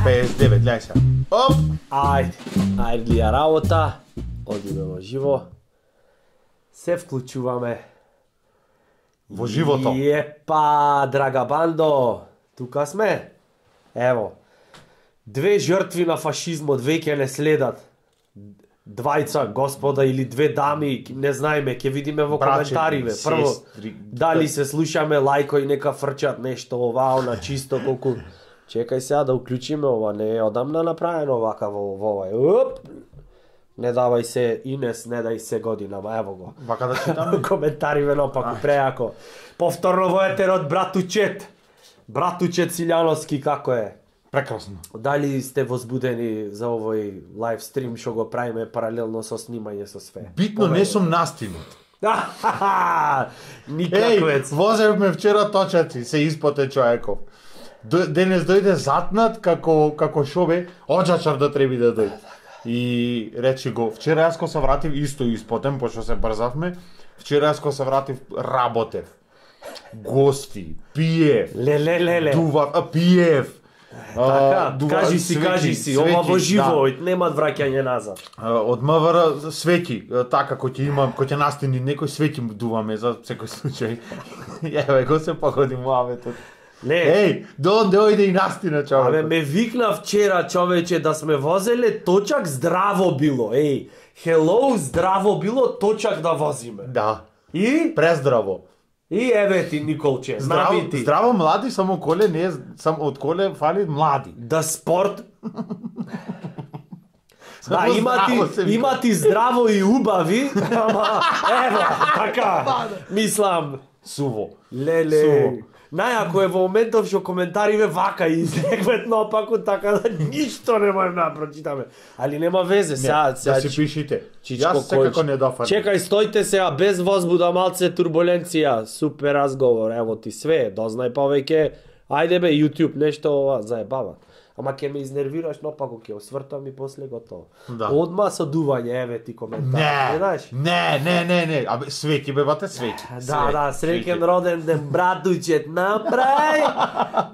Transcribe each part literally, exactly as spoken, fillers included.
петдесет и девет, гледај сега. Оп! Ајде, ајде ли ја работа, одиме во живо. Се вклучуваме. Во живото. Епа, драга бандо, тука сме. Ево, две жртви на фашизмот веќе не следат. Двајца господа или две дами, не знаеме, ќе видиме во Браче, коментариве. Прво, сестри. дали се слушаме лајко и нека фрчат нешто ова, она чисто колку. Чекај сега да уклучиме ова, не е одамна направено вака во во овај. Оп! Не давај се Инес, не дај се годинама, ево го. Вака да читаме. Коментари венопаку, преако. Повторно во етерот, братучет. Братучет Силјановски, како е? Прекрасно. Дали сте возбудени за овој лайв стрим што го правиме паралелно со снимање со све? Битно не сум настигнат. Никаквец. Еј, возевме вчера точаци, се испоте човеков. Денес дојде затнат како како шобе, оджачар да треби да дојде. И речи го, вчера јас ко се вратив исто испотем, пошто се брзавме. Вчера јас ко се вратив работев. Гости, пиев. Леле леле. Дува, а, пиев. Така, дува, кажи си, свети, кажи си, свети, ова во живо, да. нема враќање назад. Од МВР свеќи, така кој ќе има, кој ќе настини некој свеќи дуваме за секој случај. Еве го се погоди муаветот. Не. Еј, дон дојде и настина човек. Абе ме викна вчера човече да сме возеле точак здраво било. Еј, hello, здраво било точак да возиме. Да. И Прездраво. и еве ти Николче, Здраво, набити. здраво млади, само коле не е, само од коле фали млади. Да спорт. Да, Само има здраво ти, се вика. има ти здраво и убави, ама ево, така, мислам, Суво. леле. Суво. Најако е во моментов што коментариве вака излегвет наопаку, така да ништо не можем да прочитаме. Али нема везе, сега, сега. Да си пишите. Чичко Јас секако Којч. не дофатам. Чекај, стојте сега, без возбуда, малце турбуленција, супер разговор, ево ти све, дознај повеќе. Ајде бе, YouTube, нешто ова, заебава. Ама ќе ме изнервираш, но пако ќе освртам и после готово. Да. Одма со дување, еве ти коментар. Не, знаеш? не, не, не, не. Абе, свеќи бе, бате, свеќи. Да, да, среќен роден ден, братучет, направи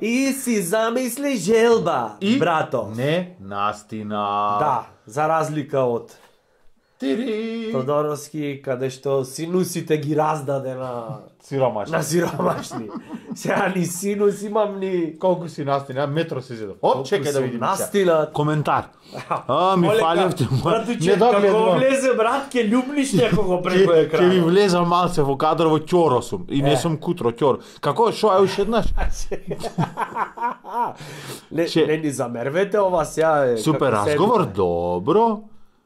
и си замисли желба, И брато. не настина. Да, за разлика од Тири. Тодоровски, каде што синусите ги раздаде на Сиромаш. на сиромашни. Сега ни синус имам ни... Колку си настина? Метро си зедов. Оп, чекај да видим. Настина. Коментар. А, ми фалевте. Братуче, како влезе брат, ке љубниш некого преку Ќе екран. ви влеза малце во кадар во ќоро сум. И не сум кутро ќоро. Како шо е уште еднаш? Не, Че- не ни замервете ова сега е. Супер како разговор, седите. добро.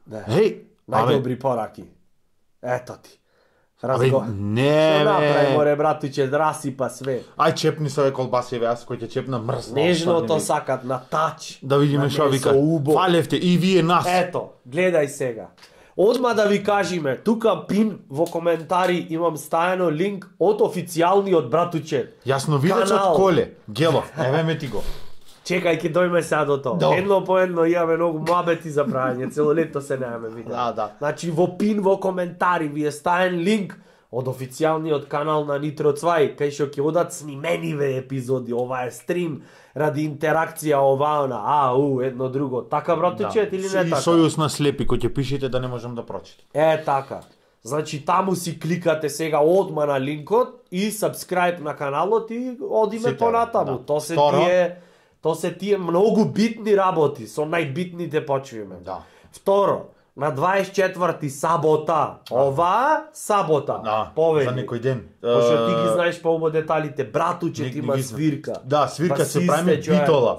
Да. Еј, абе, Најдобри пораки. Ето ти. абе, Разговор. не, Што направи, бе. море, братуче, да расипа све. Ај чепни се ове колбаси, јас кој ќе чепна мрзно. Нежното сакат на тач. Да видиме на шо месо, вика. убо. Фалевте и вие нас. Ето, гледај сега. Одма да ви кажиме, тука пин во коментари имам стајано линк од официјалниот братучет. Јасновидец Канал. од коле. Гелов, еве ме ти го. Чекај, ќе дојме сега до тоа. Добро. Едно по едно имаме многу муабети за правење, цело лето се немаме видео. Да, да. Значи во пин во коментари ви е стаен линк од официјалниот канал на Нитро Цвај, кај што ќе одат снимениве епизоди, ова е стрим ради интеракција ова она, а, у, едно друго. Така братучет или не И така? сојуз на слепи кој ќе пишете да не можам да прочитам. Е, така. Значи, таму си кликате сега одма на линкот и subscribe на каналот и одиме Сите, понатаму. да. То се Второ. тие, то се тие многу битни работи, со најбитните почвиме. Да. Второ, на дваесет и четврти сабота. Ова сабота. Да, Повеќе. за некој ден. Пошто ти ги Е, знаеш поубаво деталите. Братуче не- ти не има ги знам. свирка. Да, свирка Па се си прави сте, човек. битола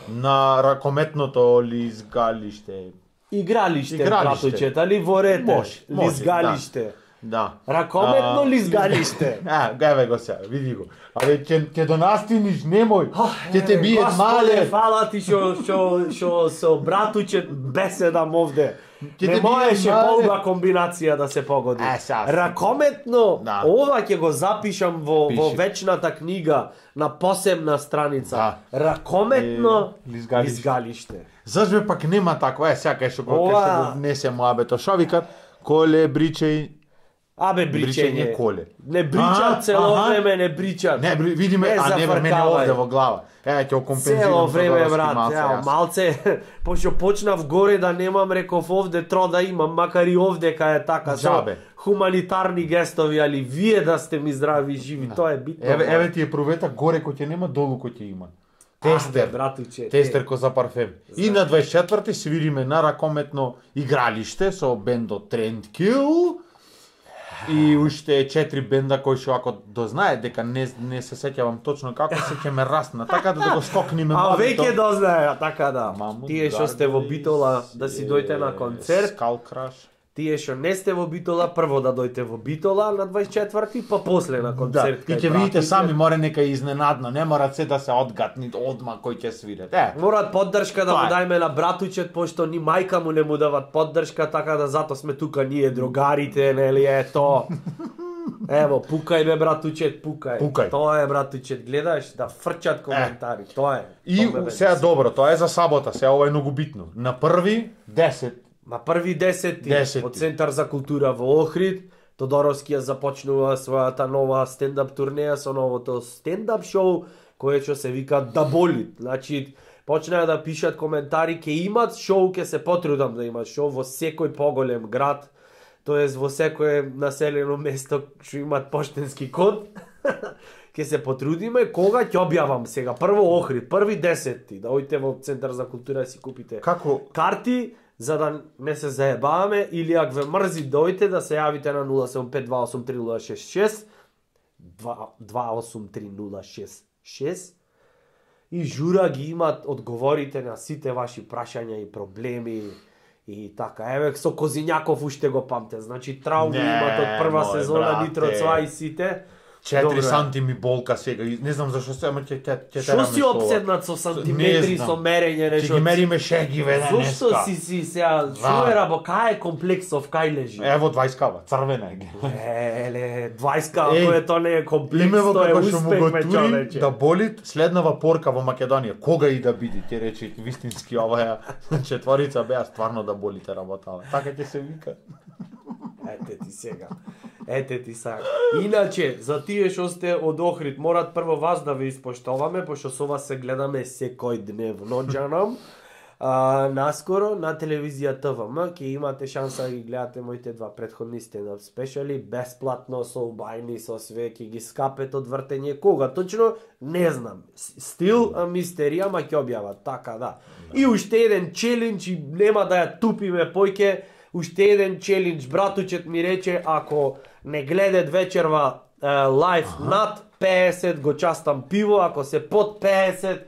на ракометното лизгалиште. Игралиште, Игралиште. братуче, али ворете. Може, може, Лизгалиште. Да. Ракометно А, лизгалиште. А, еве го сега, види го. Абе, ќе ќе донастиниш, немој. Ќе те бијат Господе, мале. фала ти што што што со братучет беседам овде. Ќе Не те можеше бијат мале. полга комбинација да се погоди. Е, сега. Ракометно, Да. ова ќе го запишам во, во Пиши. вечната книга на посебна страница. Да. Ракометно Е, лизгалиште. лизгалиште. Зашто пак нема такво, е, сега кај што го Ова- кај што го внесе моабето. Шо викат? Коле бричеј Абе, Бричење бричење. коле. Не бричат А, цело аха. време, не бричат. Не, бри- видиме, Не а не бе, мене зафркавај. овде во глава. Еве ќе компензирам Цело со време, дорски брат, малце, ја, јас. малце, пошто почнав горе да немам, реков овде тро да имам, макар и овде кај е така, со Джабе. хуманитарни гестови, али вие да сте ми здрави и живи, тоа е битно. Еве, брат. еве ти е провета горе кој ќе нема, долу кој ќе има. Аде, Тестер. братуче. Тестер ко за парфем. И на дваесет и четврти свириме на ракометно игралиште со бендот Trendkill. И уште четири бенда кои што ако дознае дека не не се сеќавам точно како се ќе ме расна, така да, да го скокниме А мавито. веќе дознае, така да. Маму, Тие што сте во Битола да си дојте на концерт, Skull Crush. тие што не сте во Битола, прво да дојте во Битола на дваесет и четврти, па после на Да, концерт. и кај ќе видите братите. сами, море нека изненадно, не мора се да се одгатни одма кој ќе свират. Е, Морат поддршка да Тоа му е. дајме на братучет, пошто ни мајка му не му дават поддршка, така да зато сме тука ние другарите, нели ето. Ево, пукај бе братучет, пукај. Пукај. Тоа е братучет, гледаш да фрчат коментари, тоа е. и Тоа ме сега беси. добро, тоа е за сабота, сега ова е многу битно. На први десет. На први десети, Десети. од Центар за култура во Охрид, Тодоровски ја започнува својата нова стендап турнеја со новото стендап шоу, кое што се вика Да боли. Значи, почнаа да пишат коментари, ќе имат шоу, ќе се потрудам да имат шоу во секој поголем град, тоест во секое населено место што имат поштенски код. Ќе се потрудиме, кога ќе објавам сега. Прво Охрид, први десети, да ојте во Центар за култура да си купите Како карти, за да не се заебаваме, или ако ве мрзи дојте да се јавите на нула седум пет два осум три нула шест шест два осум три нула шест шест и жура ги имат одговорите на сите ваши прашања и проблеми и така. Еве со Козињаков уште го памте. Значи трауми Не, имат од прва мој сезона брате. Нитро Цвај и сите. четири Добро е. сантими болка сега, и не знам зашто се, ама ќе ќе ќе Што си обседнат со сантиметри, Не знам. со мерење, Ќе нешто? ги мериме шегиве Зошто денеска. си си сега, Да. што е рабо, кај е комплексов, кај лежи? Ево дваесет кава, црвена е. Еле, дваесет кава, Еј, тоа тоа не е комплекс, Имево тоа е како што му успех, го ме тури човече. да боли следнава порка во Македонија. Кога и да биде, ќе рече вистински оваа четворица беа стварно да болите работава. Така ќе се вика. Ете ти сега. Ете ти сега. Иначе, за тие што сте од Охрид, морат прво вас да ве испоштоваме, пошто со вас се гледаме секој дневно, џанам. А, наскоро на телевизија ТВМ ќе имате шанса да ги гледате моите два претходни стендап спешали, бесплатно, со убајни, со све, ќе ги скапете од вртење. Кога точно? Не знам. С- Стил а, мистерија, ма ќе објават, така да. И уште еден челендж, и нема да ја тупиме појке, уште еден челендж, братучет ми рече, ако не гледат вечерва е, лайф над педесет, го частам пиво, ако се под педесет,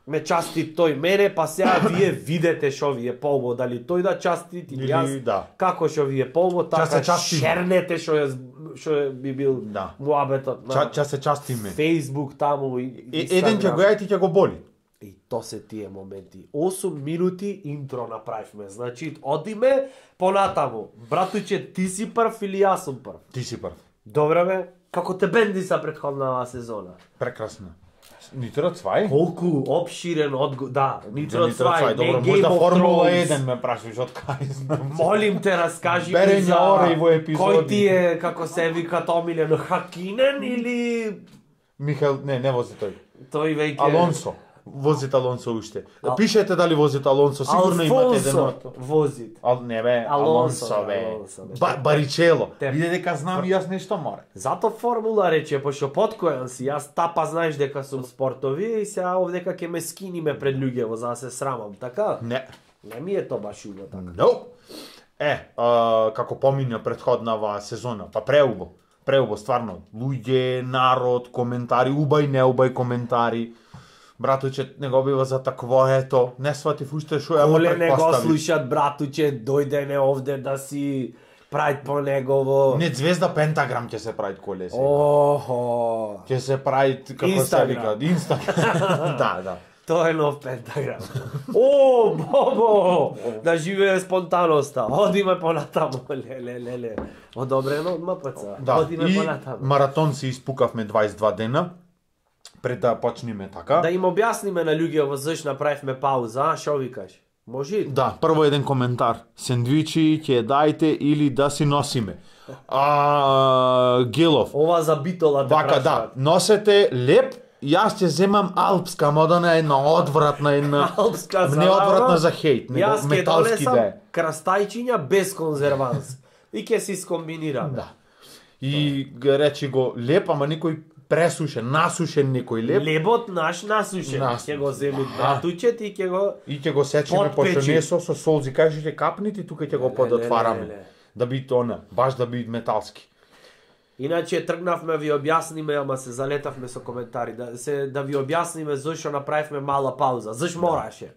ме части тој мене, па сега вие видете шо ви е полбо, дали тој да части или Или јас, да. како шо ви е полбо, се така частиме. шернете шо е, шо е би бил Да. муабетот на Ча, ча се частиме. Facebook таму и Е, еден ќе го ја и ти ќе го боли. И то се тие моменти. осум минути интро направивме. Значи, одиме понатаму. Братуче, ти си прв или јас сум прв? Ти си прв. Добре бе, како те бенди са предходнава сезона. Прекрасно. Нитро Цвај? Колку обширен одго... Да, Нитро Нитро Цвај, не добро, Game можда of Формула Thrones. еден ме прашуваш од кај знам. Молим те, раскажи ми Берење за... ора и во епизоди. Кој ти е, како се вика омилен, Хакинен или... Михаил, не, не вози тој. Тој веќе... Алонсо. Возит Алонсо уште. Ал- Пишете дали возит Алонсо, сигурно имате еден Алфонсо од... возит. Ал, не бе, Алонсо, Алонсо бе. Алонсо, бе. Ба, Баричело. Те- Виде дека знам и јас нешто море. Зато формула рече, пошто подкојан си, јас тапа знаеш дека сум спортови и сега овдека ќе ме скиниме пред луѓево за да се срамам, така? Не. Не ми е то баш убаво така. No. Е, а, како помиња претходнава сезона, па преубо. Преубо, стварно. Луѓе, народ, коментари, убај, неубај коментари. Братуче, не го бива за такво, ето, не сватив уште шо ја го Коле не го предпоставив. слушат братуче, дојде не овде да си прајт по негово. Не, Звезда Пентаграм ќе се прави коле сега. Охо. Ќе се прави, како се Инстаграм. вика, Инстаграм. Да, да. Тоа е нов пентаграм. О, бобо! Да живее спонтаноста. Одиме понатаму. Леле, леле. Одобрено од МПЦ. Да, Одиме и понатаму. маратон се испукавме дваесет и два дена, пред да почнеме така. Да им објасниме на луѓето зашто направивме пауза, а шо викаш? Може и Да, прво еден коментар. Сендвичи ќе дајте или да си носиме. А, Гелов. ова за битола те Вака, да, прашаат. носете леп, јас ќе земам алпска, модана една одвратна, една... Алпска за Не одвратна лава. за хейт, него Јас ќе металски донесам да е. крастајчиња без конзерванс. И ќе си скомбинираме. Да. И га речи го леп, ама некој пресушен, насушен некој леп. Лебот наш насушен. Насушен. Ќе го земи А. братучет и ќе го И ќе го сечеме Подпечи. пошто не со со солзи, кажи ќе капнити, тука ќе го Ле, ле, подотвараме. ле, ле. Да биде она, баш да биде металски. Иначе тргнавме ви објасниме, ама се залетавме со коментари, да се да ви објасниме зашо направивме мала пауза. Заш мораше.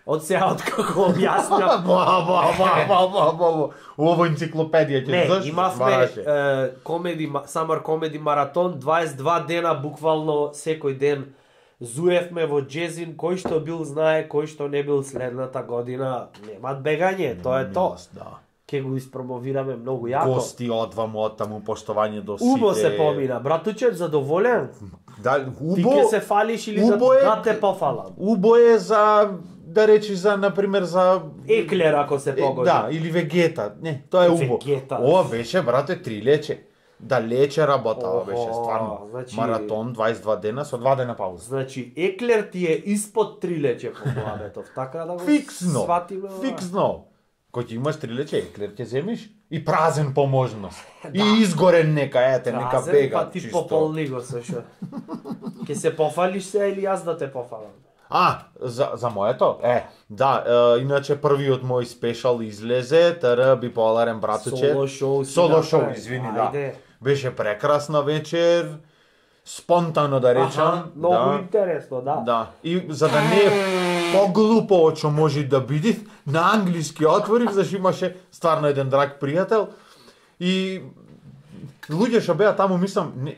Од сега откако објаснав, Ба, ба, ба, ба, ба, ба, ба. Ово енциклопедија ќе не, заш имавме бараше. е, комеди ма- Summer Comedy маратон, дваесет и два дена буквално секој ден зуевме во джезин, кој што бил знае, кој што не бил следната година, немат бегање, тоа е то. Да. Ке го испромовираме многу јако. Гости одваму од таму, поштовање до сите. Убо се помина. Братучет, задоволен? Да, Ти убо, ке се фалиш или да, убо е- да те пофалам? убо е за, да речи за, например, за... Еклер ако се Е, погоди. Да, или вегета. Не, тоа е убо. Вегета. Ова беше, брате, три лече. Да лече работава Охо, беше, стварно. значи- Маратон, дваесет и два дена, со два дена пауза. Значи, еклер ти е испод три лече по главето, така да го Фиксно, сватиме. ова. фиксно. Кој ќе имаш три лече, еклер ќе земиш и празен по можност. И изгорен нека, ете, нека Празен, бега. па ти чисто. пополни го со шо. Ке се пофалиш се или јас да те пофалам? А, за, за моето? Е, да, е, иначе првиот мој спешал излезе, тр биполарен братуче. Соло шоу си Соло шоу, направи. извини, Ајде. да. Беше прекрасна вечер, спонтано да речам. Аха, многу да. интересно, да. Да, и за да не е поглупо од што може да биде, на англиски отворив, зашто имаше стварно еден драг пријател и луѓе што беа таму, мислам, не,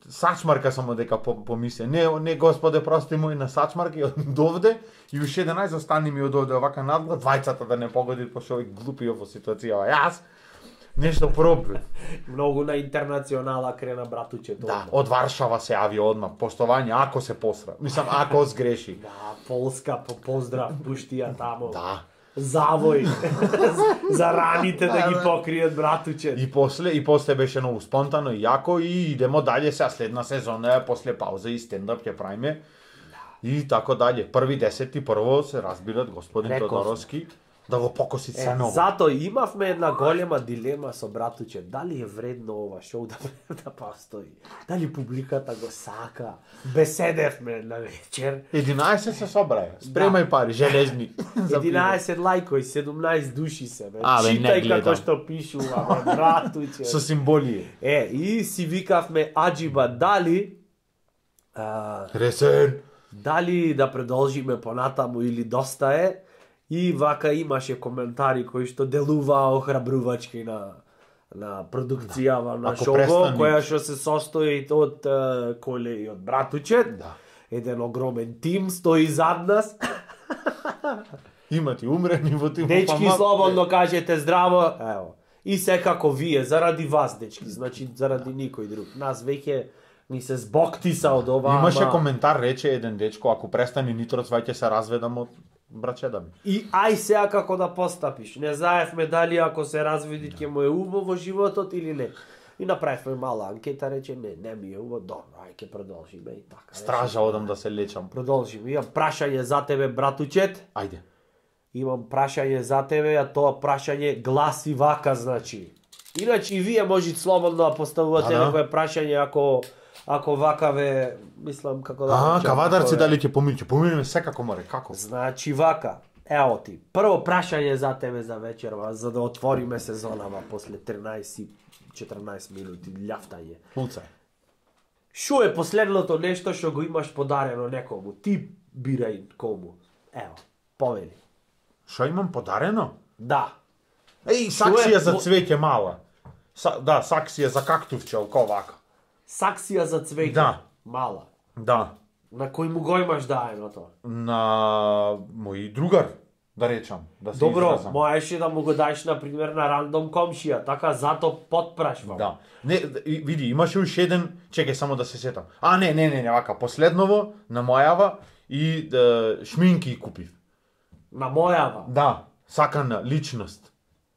сачмарка само дека по, помисле. Не, не господе, прости мој, на сачмарка и од овде и уште еденаесет остани ми од овде овака надглед, двајцата да не погоди пошто овој глупи во ситуација. Јас нешто пробив. Многу на интернационала крена братучето. Да, од Варшава се јави одма, поштовање ако се посра. Мислам, ако сгреши. Да, Полска, по поздрав, пушти ја таму. Да. Завој. За раните да ги покријат братучет. И после и после беше многу спонтано и јако и идемо дале сега следна сезона е после пауза и стендап ќе правиме. И така дале. Први десети прво се разбират господин Реков. Тодоровски да го покоси Е, се ново. зато имавме една голема дилема со братучет. Дали е вредно ова шоу да, да постои? Дали публиката го сака? Беседевме на вечер. единаесет се собраја. Спремај пари, железни. За единаесет лајкови, седумнаесет души се, бе. А, бе, не Читај гледам. како што пишува, бе, братуче. пиво. Со символија. Е, и си викавме Аджиба дали а, Ресен. дали да продолжиме понатаму или доста е. И вака имаше коментари кои што делуваа охрабрувачки на на продукцијава на Ако шоу, престани- која што се состои од е, Коле и од братучет. Да. Еден огромен тим стои зад нас. Има ти умрени во тимот. Дечки, слободно кажете здраво. Ево. И секако вие, заради вас, дечки, значи заради никој друг. Нас веќе ни се збоктиса од ова. Имаше ама- коментар, рече еден дечко, ако престани Нитроц, ваќе се разведам од брачеда ми. И ај сега како да постапиш. Не знаевме дали ако се разведи ќе му е убаво во животот или не. И направивме мала анкета, рече не, не ми е убаво, добро, ај ќе продолжиме и така. Стража одам да се лечам. Продолжиме. Имам прашање за тебе, братучет. Ајде. Имам прашање за тебе, а тоа прашање гласи вака, значи. Иначе и вие можете слободно да поставувате А, да. некое прашање ако ако вака ве, мислам како да А, речам, кавадарци како ве- дали ќе помине, ќе поминеме секако море, како? Значи вака, ево ти, прво прашање за тебе за вечерва, за да отвориме сезонава после тринаесет и четрнаесет минути љафтање. Пулцај. Шо е последното нешто што го имаш подарено некому? Ти бирај кому. Ево, повели. Што имам подарено? Да. Еј, Шо саксија е за по- цвеќе мала. Са, да, саксија за кактувче, око вака. Саксија за цвеќе. Да. Мала. Да. На кој му го имаш даеното? На мој другар, да речам, да се Добро, изразам. можеше да му го даеш, например, на рандом комшија, така зато подпрашвам. Да. Не, и- види, имаше уште еден, чекај само да се сетам. А, не, не, не, не, вака, последново, на мојава и да, шминки купив. На мојава. Да, сакана личност.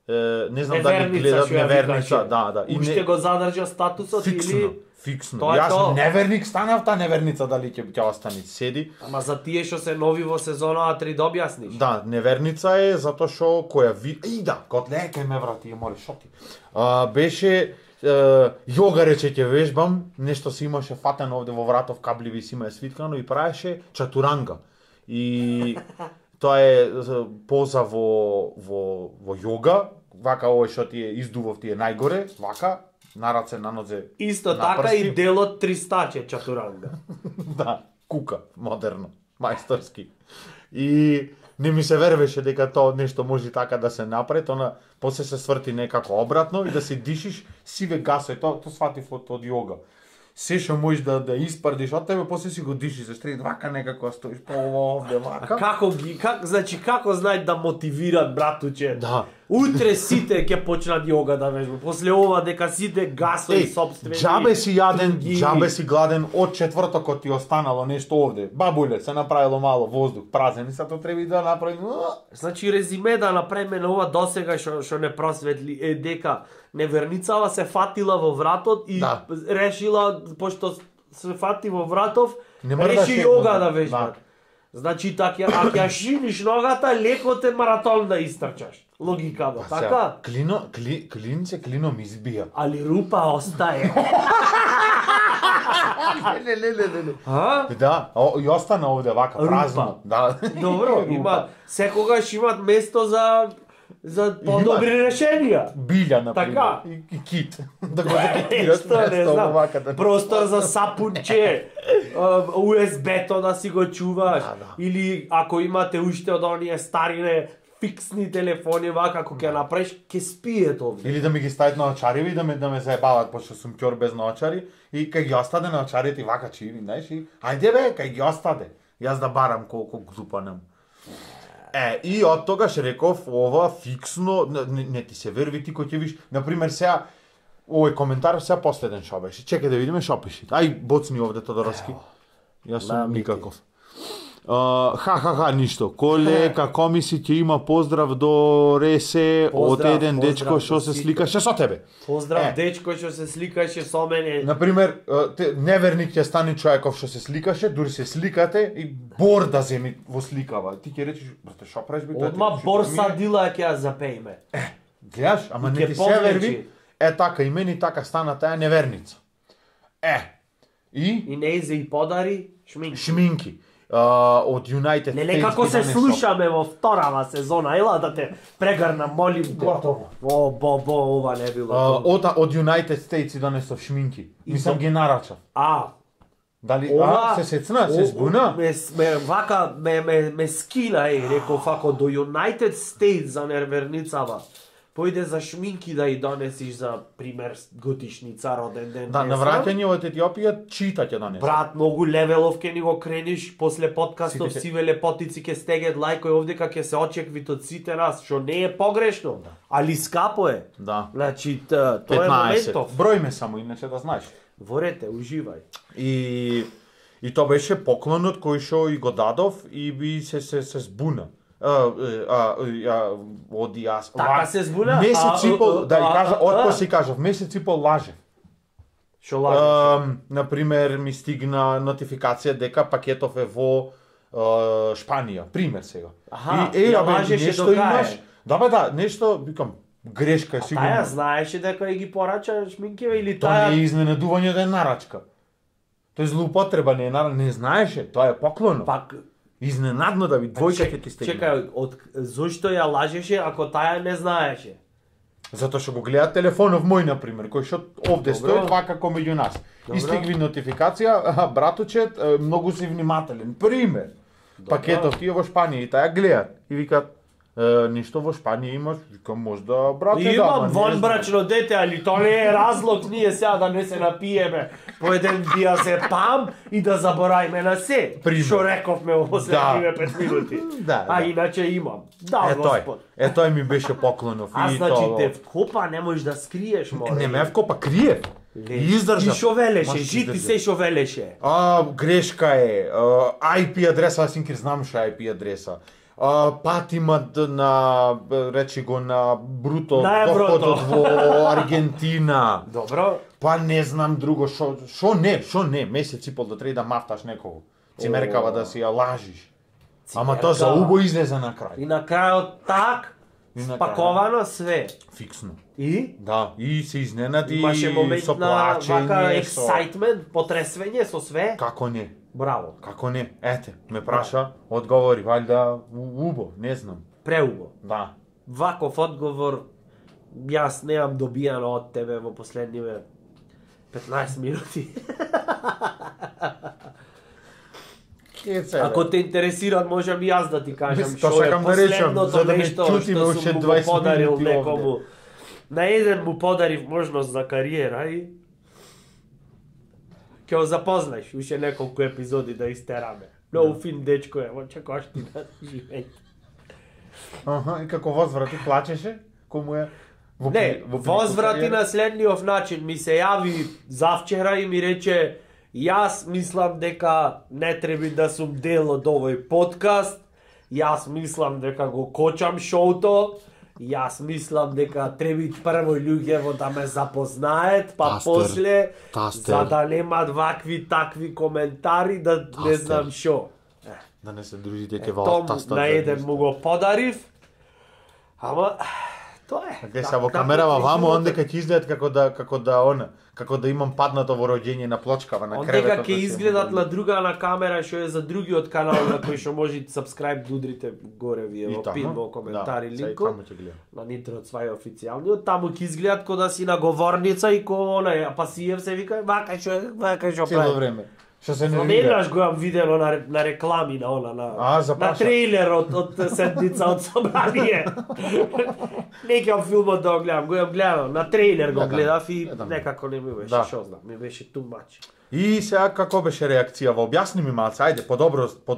Е, не знам Неверница, дали гледат што ја неверница, викаше. да, да. И Уште не, го задржа статусот фиксно, или... фиксно. Тоа е Јас тоа. неверник станав, та неверница дали ќе ќе остане седи. Ама за тие што се нови во сезона три да објасниш. Да, неверница е затоа што која ви и да, котле кај ме врати, ја моли шоти. А, беше е, јога рече ќе вежбам, нешто си имаше фатено овде во вратов, кабливи си има свиткано и правеше чатуранга. И тоа е поза во во во јога, вака овој што ти е издувов ти е најгоре, вака на раце, на нозе. Исто на така прсти. и делот тристаче чатуранга. Да, кука, модерно, мајсторски. И не ми се вервеше дека тоа нешто може така да се направи, она после се сврти некако обратно и да се дишиш сиве гасови, тоа тоа сватив од, од јога. Се што можеш да да испардиш од тебе, после си го дишиш, зашто вака некако стоиш по овде А вака. како ги как значи како знаат да мотивират братуче? Да. Утре сите ќе почнат јога да вежбаат. После ова дека сите гасови Еј, сопствени. џабе си јаден, туги. џабе си гладен, од четвртокот ти останало нешто овде. Бабуле, се направило мало воздух, празен, и сато треба да направи. Значи резиме да направиме на ова досега што што не просветли е дека неверницава се фатила во вратот и Да. решила пошто се фати во вратов, Не мора да реши се- јога да да. вежба. Значи така ако ја шиниш ногата, леко те маратон да истрчаш. Логикава, Па сега, така? Клино, кли, клинце клином избија. Али рупа остае. Не, не, не, не, не. А? Да, о, и остана овде вака Рупа. празно. Да. Добро, Рупа. има секогаш имат место за за подобри решенија. Билја на Така. и, и кит. Да го закитираш Што не место знам, вака да. простор за сапунче, ю ес би-то да си го чуваш, Да, да. или ако имате уште од оние старине фиксни телефони вака, ако ќе направиш, ќе спиет овде. Или да ми ги стават на очари и да ме да ме заебават пошто сум ќор без наочари и кај ги остаде на очарите и вака чиви, знаеш, и ајде бе, кај ги остаде. Јас да барам колку глупанем. Е, и од тогаш реков ова фиксно, не, не, не ти се верви ти кој ќе виш, на пример сега овој коментар сега последен шо беше. Чекај да видиме шо пише. Ај боцни овде Тодоровски. Јас сум Намити. никаков. Uh, ха ха ха ништо. Колека комиси ќе има поздрав до Ресе од Поздрав, еден поздрав дечко што до се сите. сликаше со тебе. Поздрав Е. дечко што се сликаше со мене. Например, uh, те, неверник ќе стане човеков што се сликаше, дури се сликате и бор да земи во сликава. Ти ќе речеш, брате, шо правиш бе? Одма Тоа ти- борса ми- дила ќе ја запејме. Гледаш, ама И не ќе ти се повлечи. верви. Е така и мене така стана таа неверница. Е. И И не се и подари шминки. шминки. Uh, од United Леле States како ги се донесо. слушаме во вторава сезона, ела да те прегарна, молим те. Готово. О, бо, бо, ова не било. Uh, тоа. од од United States и донесов шминки. Мислам то- ги нарачав. А, Дали ова... а, се сецна, се о- збуна? Ме, ме, вака, ме, ме, ме скина, еј, реков, ако до United States за нерверницава, појде за шминки да и донесиш за пример годишница, роден ден. Да, не на знам. враќање од Етиопија чита ќе донесе. Брат, многу левелов ке ни го крениш после подкастов Сите ќе- Сиве лепотици ке стегет лајкој овде ка ќе се очеквит од сите нас, што не е погрешно, али скапо е. Да. Значи, т- тоа е петнаесет. моментов. Бројме само, иначе да знаеш. Ворете, уживај. И и тоа беше поклонот кој што и го дадов и би се се се збуна. А, а, а, оди јас. Така ла- се збуна? Месец А, и пол, а, да и а, кажа, а, отпо а. си кажав, месец и пол лаже. Шо лажеш? Um, например, ми стигна нотификација дека пакетов е во uh, Шпанија, пример сега. Аха, и е, ја абе, лажеше нешто до кај? имаш. Да бе, да, нешто, викам, грешка е Таја сигурно. знаеше дека и ги порача шминкиве или Тоа не е таја... изненадување да е нарачка. Тоа е злоупотреба, не е нар... не знаеше, тоа е поклоно. Пак, Изненадно да ви двојка ќе ти стигне. чекај, од, зошто ја лажеше ако таја не знаеше? Затоа што го гледа телефонов мој, на пример, кој што овде Добро. стои вака како меѓу нас. Добро. И стигли нотификација, аха, браточет, е, многу си внимателен. Пример. Пакетов ти е во Шпанија и таа гледат и викат е, ништо во Шпанија имаш, викам можда брате да. Имам ама не вон знам. брачно дете, али тоа не е разлог ние сега да не се напиеме по еден бија се пам и да заборајме на се. Пример. Што рековме во последниве пет минути. Да, А да. иначе имам. Да, Е тој, Господ. е тој ми беше поклонов А и значи тоа. те вкопа не можеш да скриеш, море. Не ме вкопа, крие. Ле, И издржа. И шо велеше, Маш жити издржа. се шо велеше. А, грешка е. А, ай пи адреса, аз инкер знам што е ай пи адреса. а, пат имат на, речи го, на бруто На еврото. доходот во Аргентина. Добро. Па не знам друго, шо, шо не, шо не, месец и пол да треба да мафташ некого. Цимеркава да си ја лажиш. Ама тоа за убо излезе на крај. И на крајот так, И на спаковано све. Фиксно. И? Да, и се изненади Имаше момент со на плачење, вака со... ексајтмент, потресвење со све. Како не? Браво. Како не? Ете, ме праша, одговори, валјда у- убо, не знам. Преубо. Да. Ваков одговор јас немам добијано од тебе во последниве петнаесет минути. Ако те интересираат, можам и јас да ти кажам Мис, тоа што е сакам да речам, последното за да ме нешто чутиме што уште сум му го дваесет подарил минути некому. овде. На еден му подарив можност за кариера и ќе го запознаеш уште неколку епизоди да истераме. Многу фин дечко е, во Чекоштина да живее. Аха, и како возврати плачеше? Кому е? Во, Не, во возврати кариера? на следниот начин. Ми се јави завчера и ми рече јас мислам дека не треба да сум дел од овој подкаст. Јас мислам дека го кочам шоуто. Јас мислам дека треба прво луѓево да ме запознаат, па Тастер, после тастер. за да немат вакви такви коментари да не Тастер. знам шо. Да не се дружите ке Том вал тастат. на еден му го подарив. Ама тоа е. Гледа Так- во така камерава е вамо, животот. онде ќе ќе изгледат како да како да она, како да имам паднато во роѓење на плочкава на креветот. Ондека да ќе се- изгледат на друга на камера што е за другиот канал на кој што може subscribe да удрите горе вие И во таму? пин во коментари Да, сега и линкот таму ќе гледам. на Нитро Цвај официјалниот, таму ќе изгледат ко да си на говорница и ко она, а Пасиев се вика вака што вака што Цело прави. време. Што се Но нервира. неднаш го имам видено на, на реклами на она на А, на запраша. трейлер од од седница од собрание. Не ќе филмот да го гледам, го имам гледано, на трейлер го Гледам, гледав и гледам. некако не ми беше, Да. што знам, ми беше too much. И сега како беше реакција? Во објасни ми малце, ајде, подобро, по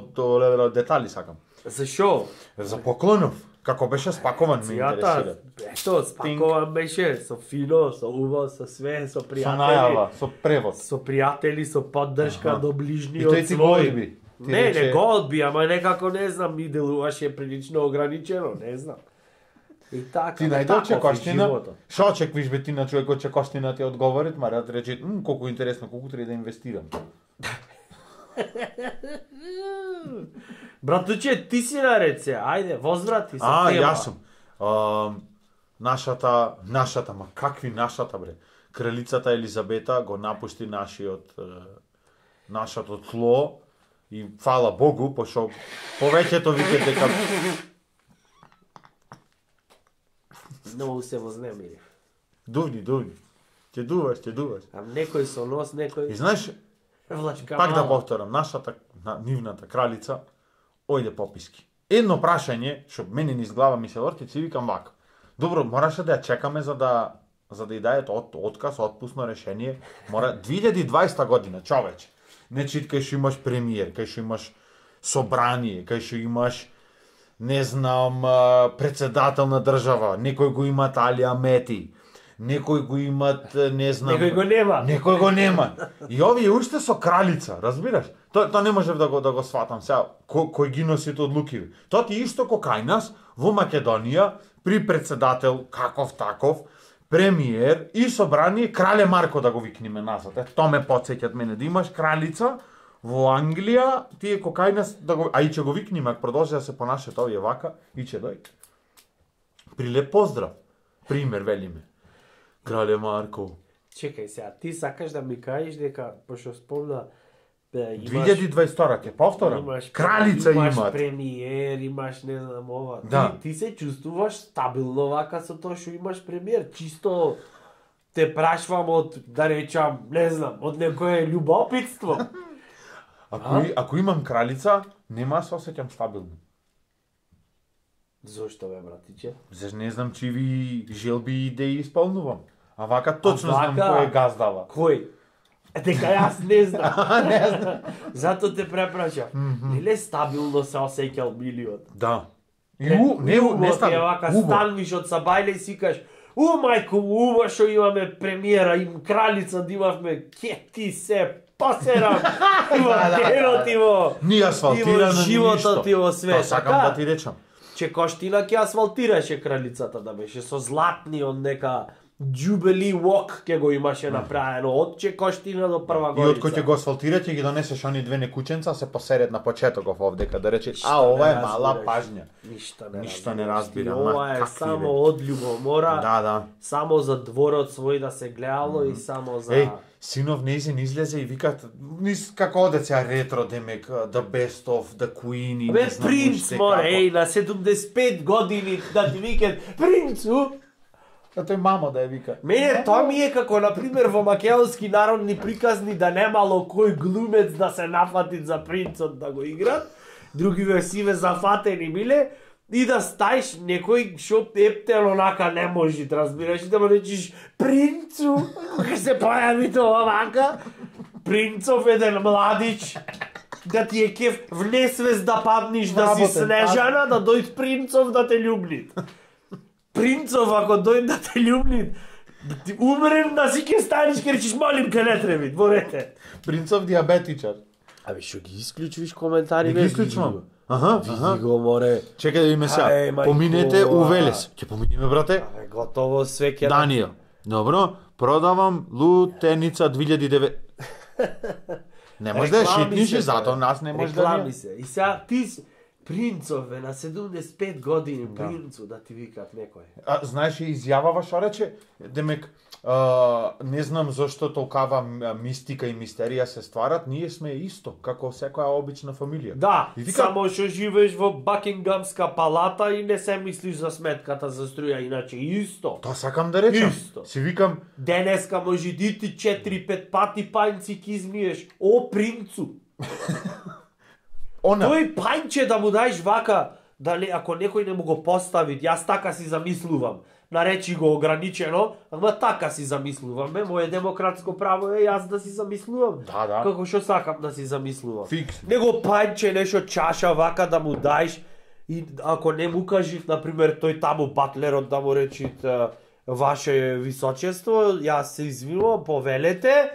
детали сакам. Зашо? За поклонов, како беше спакован ме Јата, интересира. ето, спакован беше со фино, со уво, со све, со Со пријатели. најава, со превод. Со пријатели, со поддршка Аха. до И ближниот тој ти го свој. одби. Ти Не, рече- не го одби, ама некако не знам, ми делуваше прилично ограничено, не знам. И така, Ти ама најде таков е Чекоштина, животот. шо очеквиш бе ти на човек од Чекоштина ти одговорит, ма да ти рече, м, колку интересно, колку треба да инвестирам. Братуче, ти си наред се, ајде, возврати се А, тема. јас сум. А, нашата, нашата, ма какви нашата бре? Кралицата Елизабета го напушти нашиот е, нашето тло и фала Богу, пошо повеќето викат дека Многу се вознемири. дувни, дувни. Ќе дуваш, ќе дуваш. А некој со нос, И некој знаеш, влачка пак да мала. повторам, нашата на, нивната кралица ојде пописки. Едно прашање што мене низ глава ми се врти, си викам вака. Добро, мораше да ја чекаме за да за да ја дајат од, отказ, отпусно решение. Мора две илјади и дваесета година, човече. Не чит кај што имаш премиер, кај што имаш собрание, кај што имаш не знам, а, председател на држава, некој го има Алија Мети, некој го имат, не знам... Некој го нема. Некој го нема. И овие уште со кралица, разбираш? Тоа тоа не можев да го да го сватам сега. Кој кој ги носи тоа одлуки? Тоа ти исто ко кај нас во Македонија при председател каков таков, премиер и собрание крале Марко да го викнеме назад. Е, тоа ме потсеќат мене да имаш кралица во Англија, тие ко кај нас да го а и ќе го викнеме, ако продолжи да се понашат овие вака и ќе дојде. Прилеп поздрав. Пример велиме. Крале Марко. Чекај сега, ти сакаш да ми кажеш дека, пошто спомна, бе, две илјади и дваесет втора ќе повторам. имаш, Кралица имаш имат. премиер, имаш не знам ова. Да. Ти, ти се чувствуваш стабилно вака со тоа што имаш премиер, чисто те прашвам од, да речам, не знам, од некое љубопитство. Ако, и, ако имам кралица, нема да се осеќам стабилно. Зошто бе, братиче? Заш не знам чиви желби и идеи исполнувам. А вака точно А знам вака- кој е газдава. Кој? Е, дека јас не знам. не знам. Зато те препрашав. Неле стабилно се осеќал Милиот? Да. И у, не, у, не Е става. вака Убо. станвиш од Сабајле и си кажеш, у мајко, ува што имаме премиера, им кралица да имавме, ке ти се посерам. Во денот и во... Ни асфалтирано, ни животот ништо. и во свет. Тоа сакам да ти речам. Чекоштина ќе асфалтираше кралицата да беше со златни од нека Jubilee Walk ќе го имаше направено од Чекоштина до Прва И од Горица. кој ќе го асфалтира ќе ги донесеш они две некученца се посеред на почетоков овдека да рече а ова е мала пажња. Ништо не Ништо не разбираш. разбирам, ма, Ова е какви само бе? од љубомора. Да, да. Само за дворот свој да се гледало и само за Еј, синов неизин излезе и викат низ како оде сега ретро демек The Best of The Queen и Бе, не знам принц, уште море, како. еј, на седумдесет и пет години да ти викат принцу. А тој мамо да ја вика. Мене тоа ми е како, например, во македонски народни приказни да немало кој глумец да се нафати за принцот да го играт, други версиве зафатени биле, и да стаиш некој шо ептел онака не можи, разбираш, и да му речиш принцу, кога се појави тоа вака, принцов еден младич, да ти е кеф в несвест да падниш да си Работен, Снежана, да дојд принцов да те љубнит. Принцов ако дојде да те љубнит, ти умрен да си ке станеш ке речиш молим ке не треби, дворете. Принцов диабетичар. Абе шо ги исклучувиш коментари? Не ги исклучувам. Аха, аха. Види го, море. Чекај да видиме сега. Ај, мајко. Поминете у Велес. Ќе поминеме, брате. Абе готово све ке... Даниел. Добро, продавам лутеница две илјади и девет. Не може да ја Реклами шитниш се, и затоа бе. нас не може да Реклами ни... се. И сега ти си принцове на седумдесет и пет години, принцу да ти викат некој. А, знаеш, и изјавава што рече, демек, а, не знам зашто толкава м- мистика и мистерија се стварат, ние сме исто, како секоја обична фамилија. Да, И вика- само што живееш во Бакингамска палата и не се мислиш за сметката за струја, иначе исто. Тоа сакам да речам. Исто. Си викам, Денеска може да ти четири-пет пати пајнци ки измиеш. О, принцу! она, Тој пајнче да му даеш вака, дали ако некој не му го постави, јас така си замислувам. Наречи го ограничено, ама така си замислувам. Ме, моје демократско право е јас да си замислувам. Да, да. Како што сакам да си замислувам. Фикс. Него пајнче нешто чаша вака да му даеш и ако не му кажи, например, тој таму батлерот да му речит е, ваше височество, јас се извинувам, повелете, е,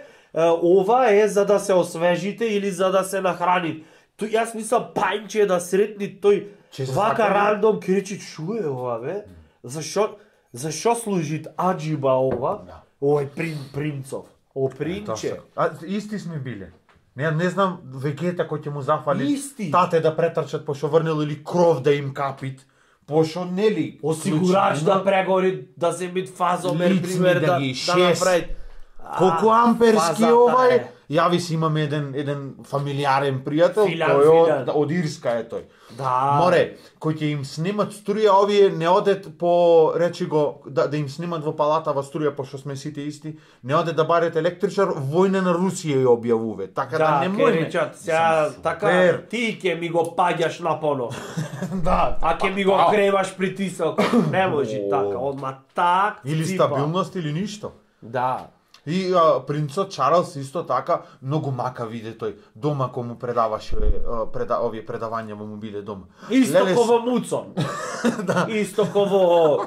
ова е за да се освежите или за да се нахраните. Тој јас мислам пајнче да сретни тој Че се вака сакали? рандом ке речи шо е ова бе? Зашо зашо служит аџиба ова? Да. Ој прин принцов. О Тоа принче. се- А, исти сме биле. Не, не знам, вегета кој ќе му зафали Исти. тате да претрчат пошо врнел или кров да им капит, пошо нели Осигурач клучи, да прегори, да земит фазомер, Лицни пример, да да, ги да шест. направи. Колку А, амперски фазата овај? е. Јави си имаме еден еден фамилиарен пријател, Филан, тој е Филан. од, од Ирска е тој. Да. Море, кој ќе им снимат струја, овие не одет по, речи го, да, да им снимат во палата во струја, пошто сме сите исти, не одет да барет електричар, војна на Русија ја објавуве. Така да, Да, не ке може. речат, сега така, Супер. ти ќе ми го паѓаш на понов, Да, а ќе ми го Ау. креваш притисок. Не може О. така, одма так Или ципа. стабилност или ништо. Да. И а, принцот Чарлс исто така многу мака биде тој дома кога му предаваше а, преда, овие предавања во му биде дома. Исто Леле, ко во Муцон. Да. Исто ко во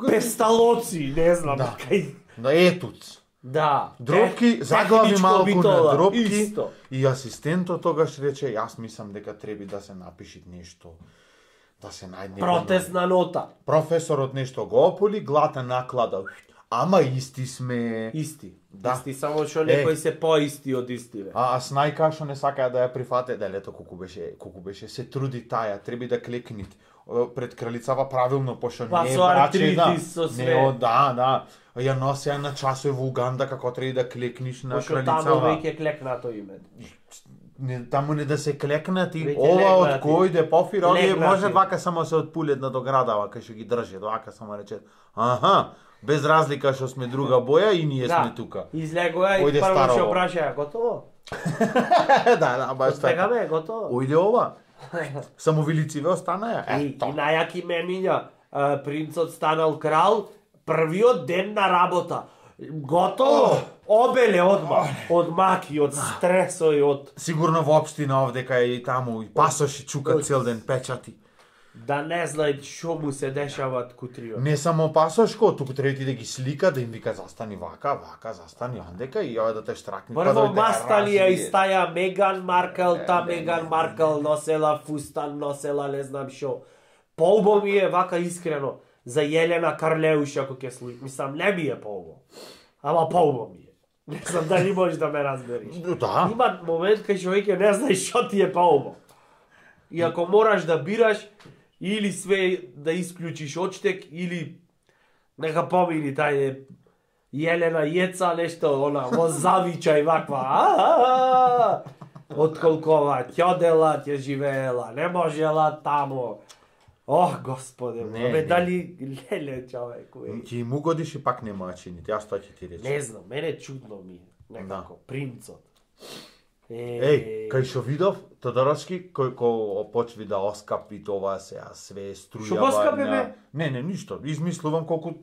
Песталоци, не знам. Да. Кај... На етуц. Да. Дропки, Те- заглави техничко малку битола, на дропки Исто. и асистентот тогаш рече, јас мислам дека треби да се напиши нешто, да се најде. Протестна нота. Професорот нешто го ополи, глата наклада. Ама исти сме. Исти. Да. Исти, само што Е. некои се поисти од исти, бе. А, а Снајка што не сакаа да ја прифате, да лето колку беше, колку беше се труди таја, треба да клекнит О, пред кралицава правилно, пошто Па не е со брачена. артритис, со све. Не, о, да, да. Ја носеа на часови во Уганда како треба да клекниш на Пошто таму кралицава. веќе клекнато име. Не, таму не да се клекнати, Веќе ова од легнати. кој де пофир, овие Легнати. може вака само се отпулет на доградава, кај што ги држат, вака само речет. Аха, без разлика што сме друга боја и ние сме тука. Излегоа и Ојде прво старово. што прашаја, готово? да, да, баш така. Стегаме, готово. Ојде ова. Само вилициве останаја. И, и Ето. најаки мемиња, а, принцот станал крал, првиот ден на работа. Готово, обеле одма, од маки, од стресој, од... Сигурно во општина овдека и таму и пасоши чукат цел ден печати. да не знаат што му се дешават кутриот. Не само пасошко, туку треба ти да ги слика, да им вика застани вака, вака, застани ондека и ја да те штракни. Прво мастали ја и стаја Меган Маркел, та Меган Маркел носела фустан, носела не знам што. Поубо ми е вака искрено за Јелена Карлеуш ако ќе слуи. Мислам, не ми е поубо. Ама поубо ми е. Не знам дали можеш да ме разбериш. Да. Има момент кај човеќе не знаеш што ти е поубо. И ако мораш да бираш, или све да исклучиш очтек, или нека помини тај Јелена Јеца, нешто, она, во завичај ваква. Отколкова ќодела, ќе живеела, не можела тамо. Ох, господе, Не, бе, не. дали леле човек, уе. Ќе им угодиш и пак нема чините, јас тоа ќе ти речам. Не знам, мене чудно ми е, некако, принцот. Е, Еј, кај што видов Тодоровски кој кој почви да оскапи тоа сега све струја. Што го оскапи, бе? Не, не, ништо. Измислувам колку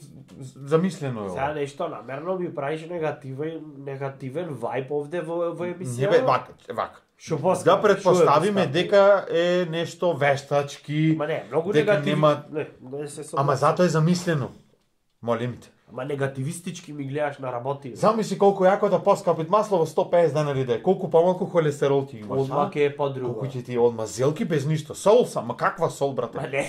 замислено е Сега ова. нешто намерно ми правиш негативен, негативен вајб овде во, во Не емисија. бе, вака, вака. Што поскапи? Да предпоставиме Што е дека е нешто вештачки. Ма не, многу дека негативно. нема- Не, не се согласувам. Ама затоа е замислено. Молим те. Ама негативистички ми гледаш на работи. Замисли колку јако да поскапит масло во сто песет денари да е. Колку помалку холестерол ти имаш. Одма а? ќе е подруго. Колку ќе ти одма зелки без ништо. Сол сам, ма каква сол, Ма брате? не,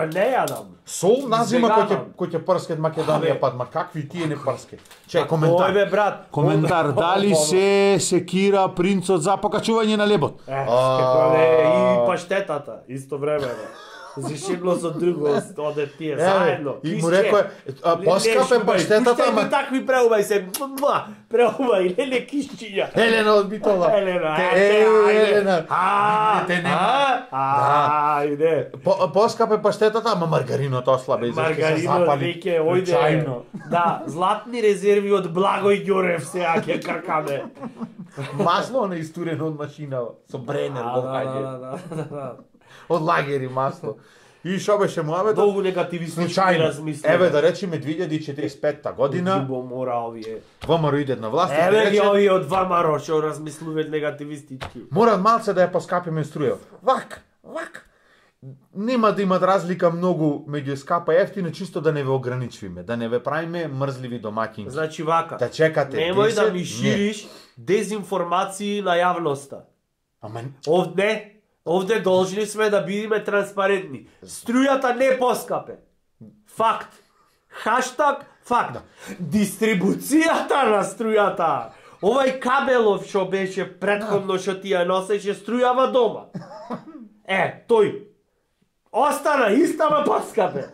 не јадам. Сол назима кој ќе Извеганам. кој ќе прскет Македонија Абе. пад, ма какви тие не прскет. Че Ој коментар. бе брат. Коментар, дали се секира принцот за покачување на лебот? Е, како не, и паштетата, исто време. Зашигло со друго, оде тие заедно. и му рекоа, а, поскапе паштетата, ама ама такви преубај се. Ма, преубај, леле кишчиња. Елена од Битола. Елена, Те- ајде, е, ајде. Елена. А, Те нема. а, ајде. По- Поскапе паштетата, ама маргариното ослабе, зашто се Маргарино запали. веќе ојде. Случајно. Да, златни резерви од Благој Ѓурев сега ќе кркаме. Масло на истурено од машина со бренер Да, го да, хаѓе. да, да, да. Од лагери масло. И шо беше муабетот? Многу негативистички Случајно. размислија. Еве да речеме две илјади и четириесет и петта година, Џибо мора овие. ВМРО иде на власт и Еве ги рече, овие од ВМРО што размислуваат негативистички. мора малце да ја поскапиме струја. Вак, вак. Нема да имат разлика многу меѓу скапа и ефтино, чисто да не ве ограничиме, да не ве правиме мрзливи домаќинки. Значи вака. Да чекате Немој да десет, ми не. шириш дезинформации на јавноста. Ама Овде, овде должни сме да бидеме транспарентни. Струјата не поскапе. Факт. Хаштаг факт. Дистрибуцијата на струјата. Овај кабелов што беше претходно што ти ја носеше струјава дома. Е, тој. Остана истама поскапе.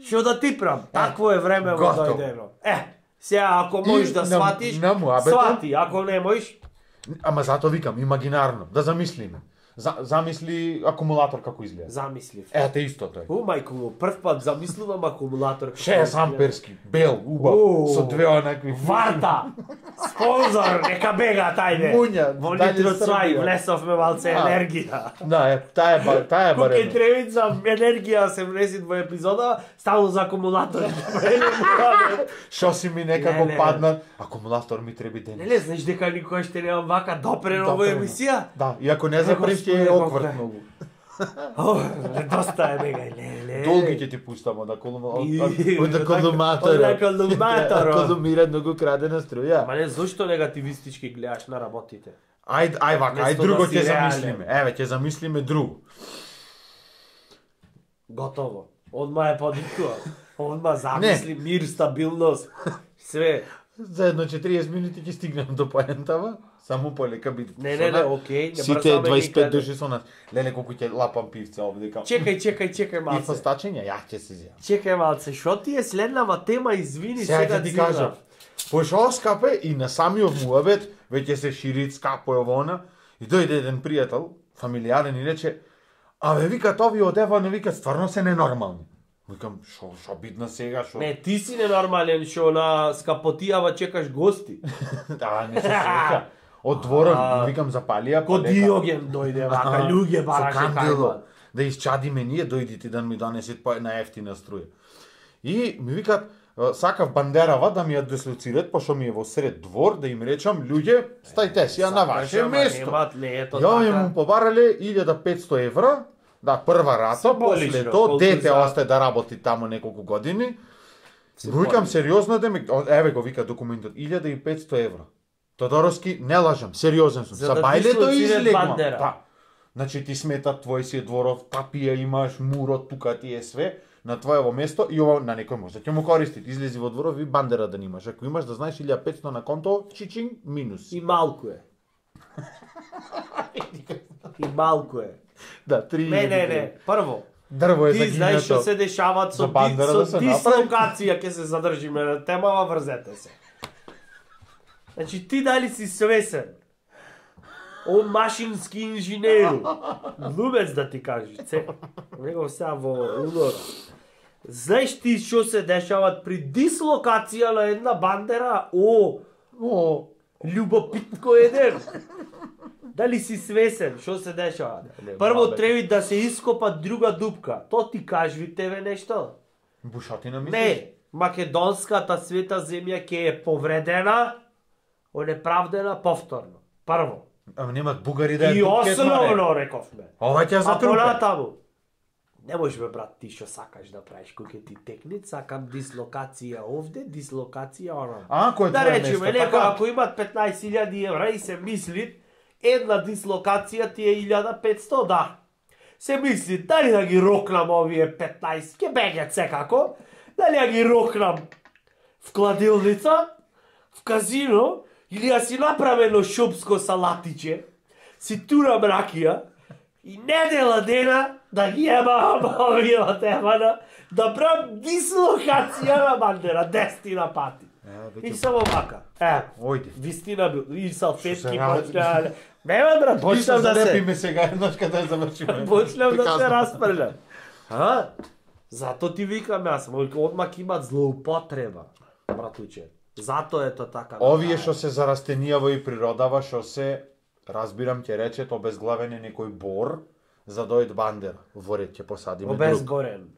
Што да ти прам? Такво е време во готово. дојдено. Е, сега ако можеш И да на- сватиш, на муабетот- свати. Ако не можеш, Ама затоа викам, имагинарно, да замислиме. За, замисли акумулатор како изгледа. замислив. Ете исто тој. У, мајко му, прв пат замислувам акумулатор. шест амперски, бел, убав, Уу. со две онакви Варта! Спонзор, нека бега тајде! Муња, Во дај Нитро ни Цвај, Србија. влесовме малце А. енергија. Да, е, таа е, ба- таа е Кога барем. ќе требица енергија се влезит во епизода, стално за акумулатори. Шо си ми некако Не, не. падна, акумулатор ми треби ден. Не, не, знаеш дека никој ще немам вака допрено во Допрено. емисија? Да, и ако не запреш ќе е Господи, окврт колко е. многу. О, доста е бега, не, не. Долги ќе ти пуштам од акумулатор. И- Од акумулатор. од акумулатор. Акумулира многу крадена струја. Ма не, зошто негативистички гледаш на работите? Ајде, ај вака, ај Место друго да си ќе реален. замислиме. Еве, ќе замислиме друго. Готово. Одма е подикува. Одма замисли, мир, стабилност, све. За едно четириесет минути ќе стигнем до поентава. Само полека биде. Не, не, не, окей, не Сите брзаме дваесет и пет никаде. души со нас. Леле колку ќе лапам пивце овде као. Чекај, чекај, чекај И малце. фастачење, ја ќе се зија. Чекај малце, шо ти е следнава тема, извини, Сега сега ќе ти дзигнав. кажам. Пошо скапе и на самиот муабет веќе се шири скапо е вона и дојде еден пријател, фамилијарен и рече: "Абе викат овие од Ева, не викат стварно се ненормални." Викам: "Шо, шо бидна сега, шо?" Не, ти си ненормален, шо на скапотијава чекаш гости. Да, не се сеќа. Од дворот, А. викам запалија Ко Диоген дојде, вака, луѓе бараше со кандило. кајман. Да isчадиме ние, дојдите да ми донесете по една ефтина струја. И ми викат, "А, сакав бандерава да ми ја дислоцират, пошто ми е во сред двор, да им речам, луѓе, стајте си ја на ваше Сакаш, ама место. немат, не е то Ја ми така. му побарале илјада и петсто евра Да, прва рата, Символично, после колку тоа дете за- остае да работи таму неколку години. Викам сериозно да ми, о, еве го вика документот, илјада и петсто евро. Тодоровски, не лажам, сериозен сум. За Са да бајлето дислоцират излегма. Бандера. Да. Значи ти сметат твој си е дворов, тапија имаш, мурот, тука ти е све, на твоево место и ова на некој може да ќе му користи. Излези во дворов и Бандера да немаш. Ако имаш да знаеш илјада и петсто на конто, чичинг минус. И малку е. И малку е. Да, три. Не, не, не. Прво, Дрво е ти знаеш што загинато. се дешават со, За Бандера ди, да со се направи. дислокација, ќе се задржиме на темава, врзете се. Значи ти дали си свесен? О машински инженеру. Лубец да ти кажеш, це. Него сега во удора. Знаеш ти што се дешават при дислокација на една Бандера? О, О, љубопитко еден. Дали си свесен што се дешава? Не, Прво бабе. треба да се ископа друга дупка. То ти кажи тебе нешто? бушатина мислиш? Не, македонската света земја ќе е повредена, онеправдена повторно. Прво. Ама немат бугари да ја И дупке отваре. основно рековме. Ова ќе А затрупе. понатаму. Не можеш бе брат ти што сакаш да правиш кој ќе ти текне, сакам дислокација овде, дислокација онам. А, кој е Да твое речеме, место, некој така? ако имат петнаесет илјади евра и се мисли, една дислокација ти е илјада и петсто, да. Се мисли, дали да ги рокнам овие петнаесет, ке бегат секако, дали да ги рокнам в кладилница, в казино, или да си направам едно шопско салатиче, си турам ракија, и недела дена да ги ебам овие од Емана, да правам дислокација на Бандера, десетина пати. Е, И веќе само вака. Е, Ојде. вистина бил. И Што салфетки се ради? почна. Нема брат, почнам да се залепиме сега еднаш каде да завршиме. почнам да се Приказно. распрлям. А? Зато ти викам јас, одмак имат злоупотреба, братуче. Зато е то така. Овие што се за растенијаво и природава, што се, разбирам ќе речет, обезглавен е некој бор, за дојд Бандера. Во ред ќе посадиме друг. Обезборен.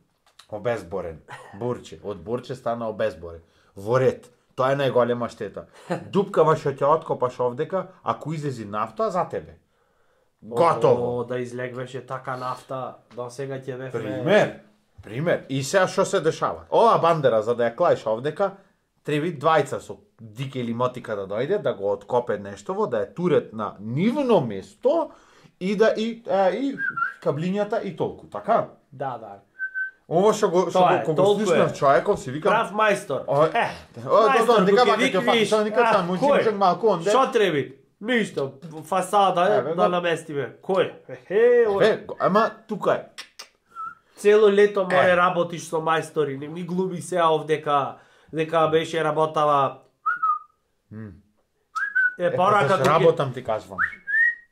Обезборен. Бурче. Од бурче стана обезборен. Во ред. Тоа е најголема штета. Дупкава што ќе откопаш овдека, ако излези нафта, за тебе. Готово. О, да излегвеше така нафта, до сега ќе бевме. Пример. Пример. И сега што се дешава? Ова Бандера, за да ја клаиш овдека, треба двајца со дик или мотика да дојде, да го откопе нештово, да ја турет на нивно место и да и, е, и каблињата и толку, така? Да, да. Ова што го што Тоа го е, кога толку слушнав е. човеков си викам, Прав мајстор. О, Е, О, да, да, дека кога вака ќе викнеш, фати, тоа никад а, сам, му кој? чимчек малку онде. Што треби? Ништо, фасада е, Еве да го. наместиме. Кој? Е, ој. Е, ама тука е. Цело лето море Е. работиш со мајстори, не ми глуми сега овдека, дека беше работава. Е, Е, порака па, кога ќе- работам ти кажувам.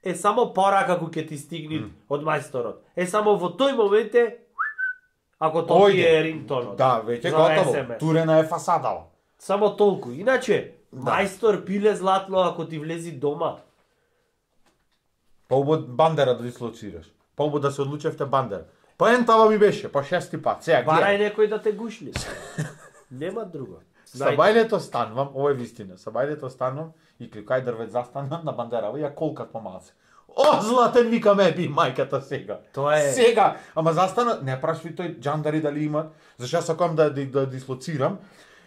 е само порака кога ќе ти стигне од мајсторот. Е само во тој момент е ако тоа ти Ојде. е рингтонот. Да, веќе за готово. ес ем ес. Турена е фасадава. Само толку. Иначе, мајстор пиле златно ако ти влези дома. Поубаво Бандера да дислоцираш. Поубаво да се одлучевте Бандера. Па ентава ми беше, па шести пат. Сега Барај гледај. некој да те гушли. Нема друго. Са бајлето станувам, ова е вистина. Са бајлето станувам и клюкај дрвет застанувам на Бандерава и ја колкат помалце. О, златен вика ме би мајката сега. Тоа е. Сега, ама застана, не прашај тој джандари дали имат. Зашто јас сакам да да, да дислоцирам,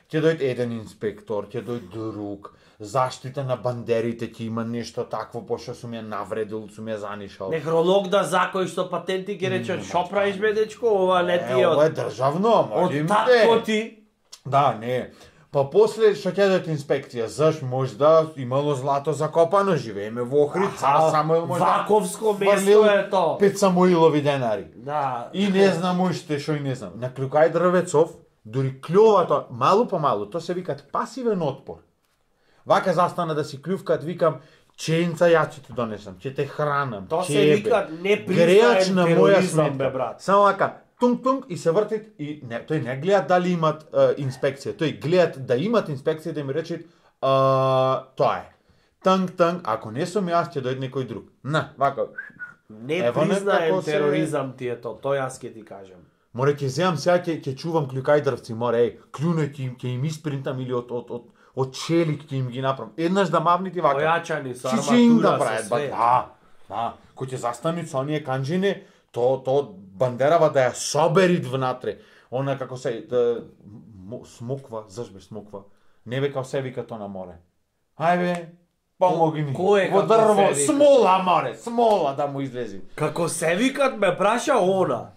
ќе дојде еден инспектор, ќе дојде друг, заштита на бандерите ќе има нешто такво, пошто сум ја навредил, сум ја занишал. Некролог да закој што патенти ќе рече, шо правиш бе дечко, ова не ти е Е, ова е од... државно, Од може татко ти. Да, не. Па после што ќе дојде инспекција, заш можда имало злато закопано, живееме во Охрид, цар Самуил можда Ваковско фрлил место е то. пет Самуилови денари. Да. И не знам уште што и не знам. На клюкај дрвецов, дури клјовато, малу по малу, то се викат пасивен отпор. Вака застана да си клювкат, викам, ченца ја ќе ти донесам, ќе те хранам, То се ќе вика бе, непризнаен греач на моја тероризам, сметка. бе, брат. Само вака, тунг тунг и се вртит и не, тој не гледат дали имат е, инспекција, тој гледат да имат инспекција да ми речат тоа е. Танг танг, ако не сум јас ќе дојде некој друг. На, вака. Ево Непризнаен некако се- тероризам ти е то, тој јас ќе ти кажам. Море ќе земам сега ќе ќе чувам клюкај дрвци, море, еј, клюне ќе им ќе им испринтам или од од од од челик ќе им ги направам. Еднаш да мавнити вака. Појачани со Чичинг да арматура, прават, со ба, све. да. Да, кој ќе застани со оние канџини, то то Бандерава да ја соберит внатре. Она како се да, смоква, зашбе смоква. Не века се вика то на море. Ајде, помогни ми. Кој е Во како дрво, се вика? смола, море, смола да му излези. Како се викат ме праша она.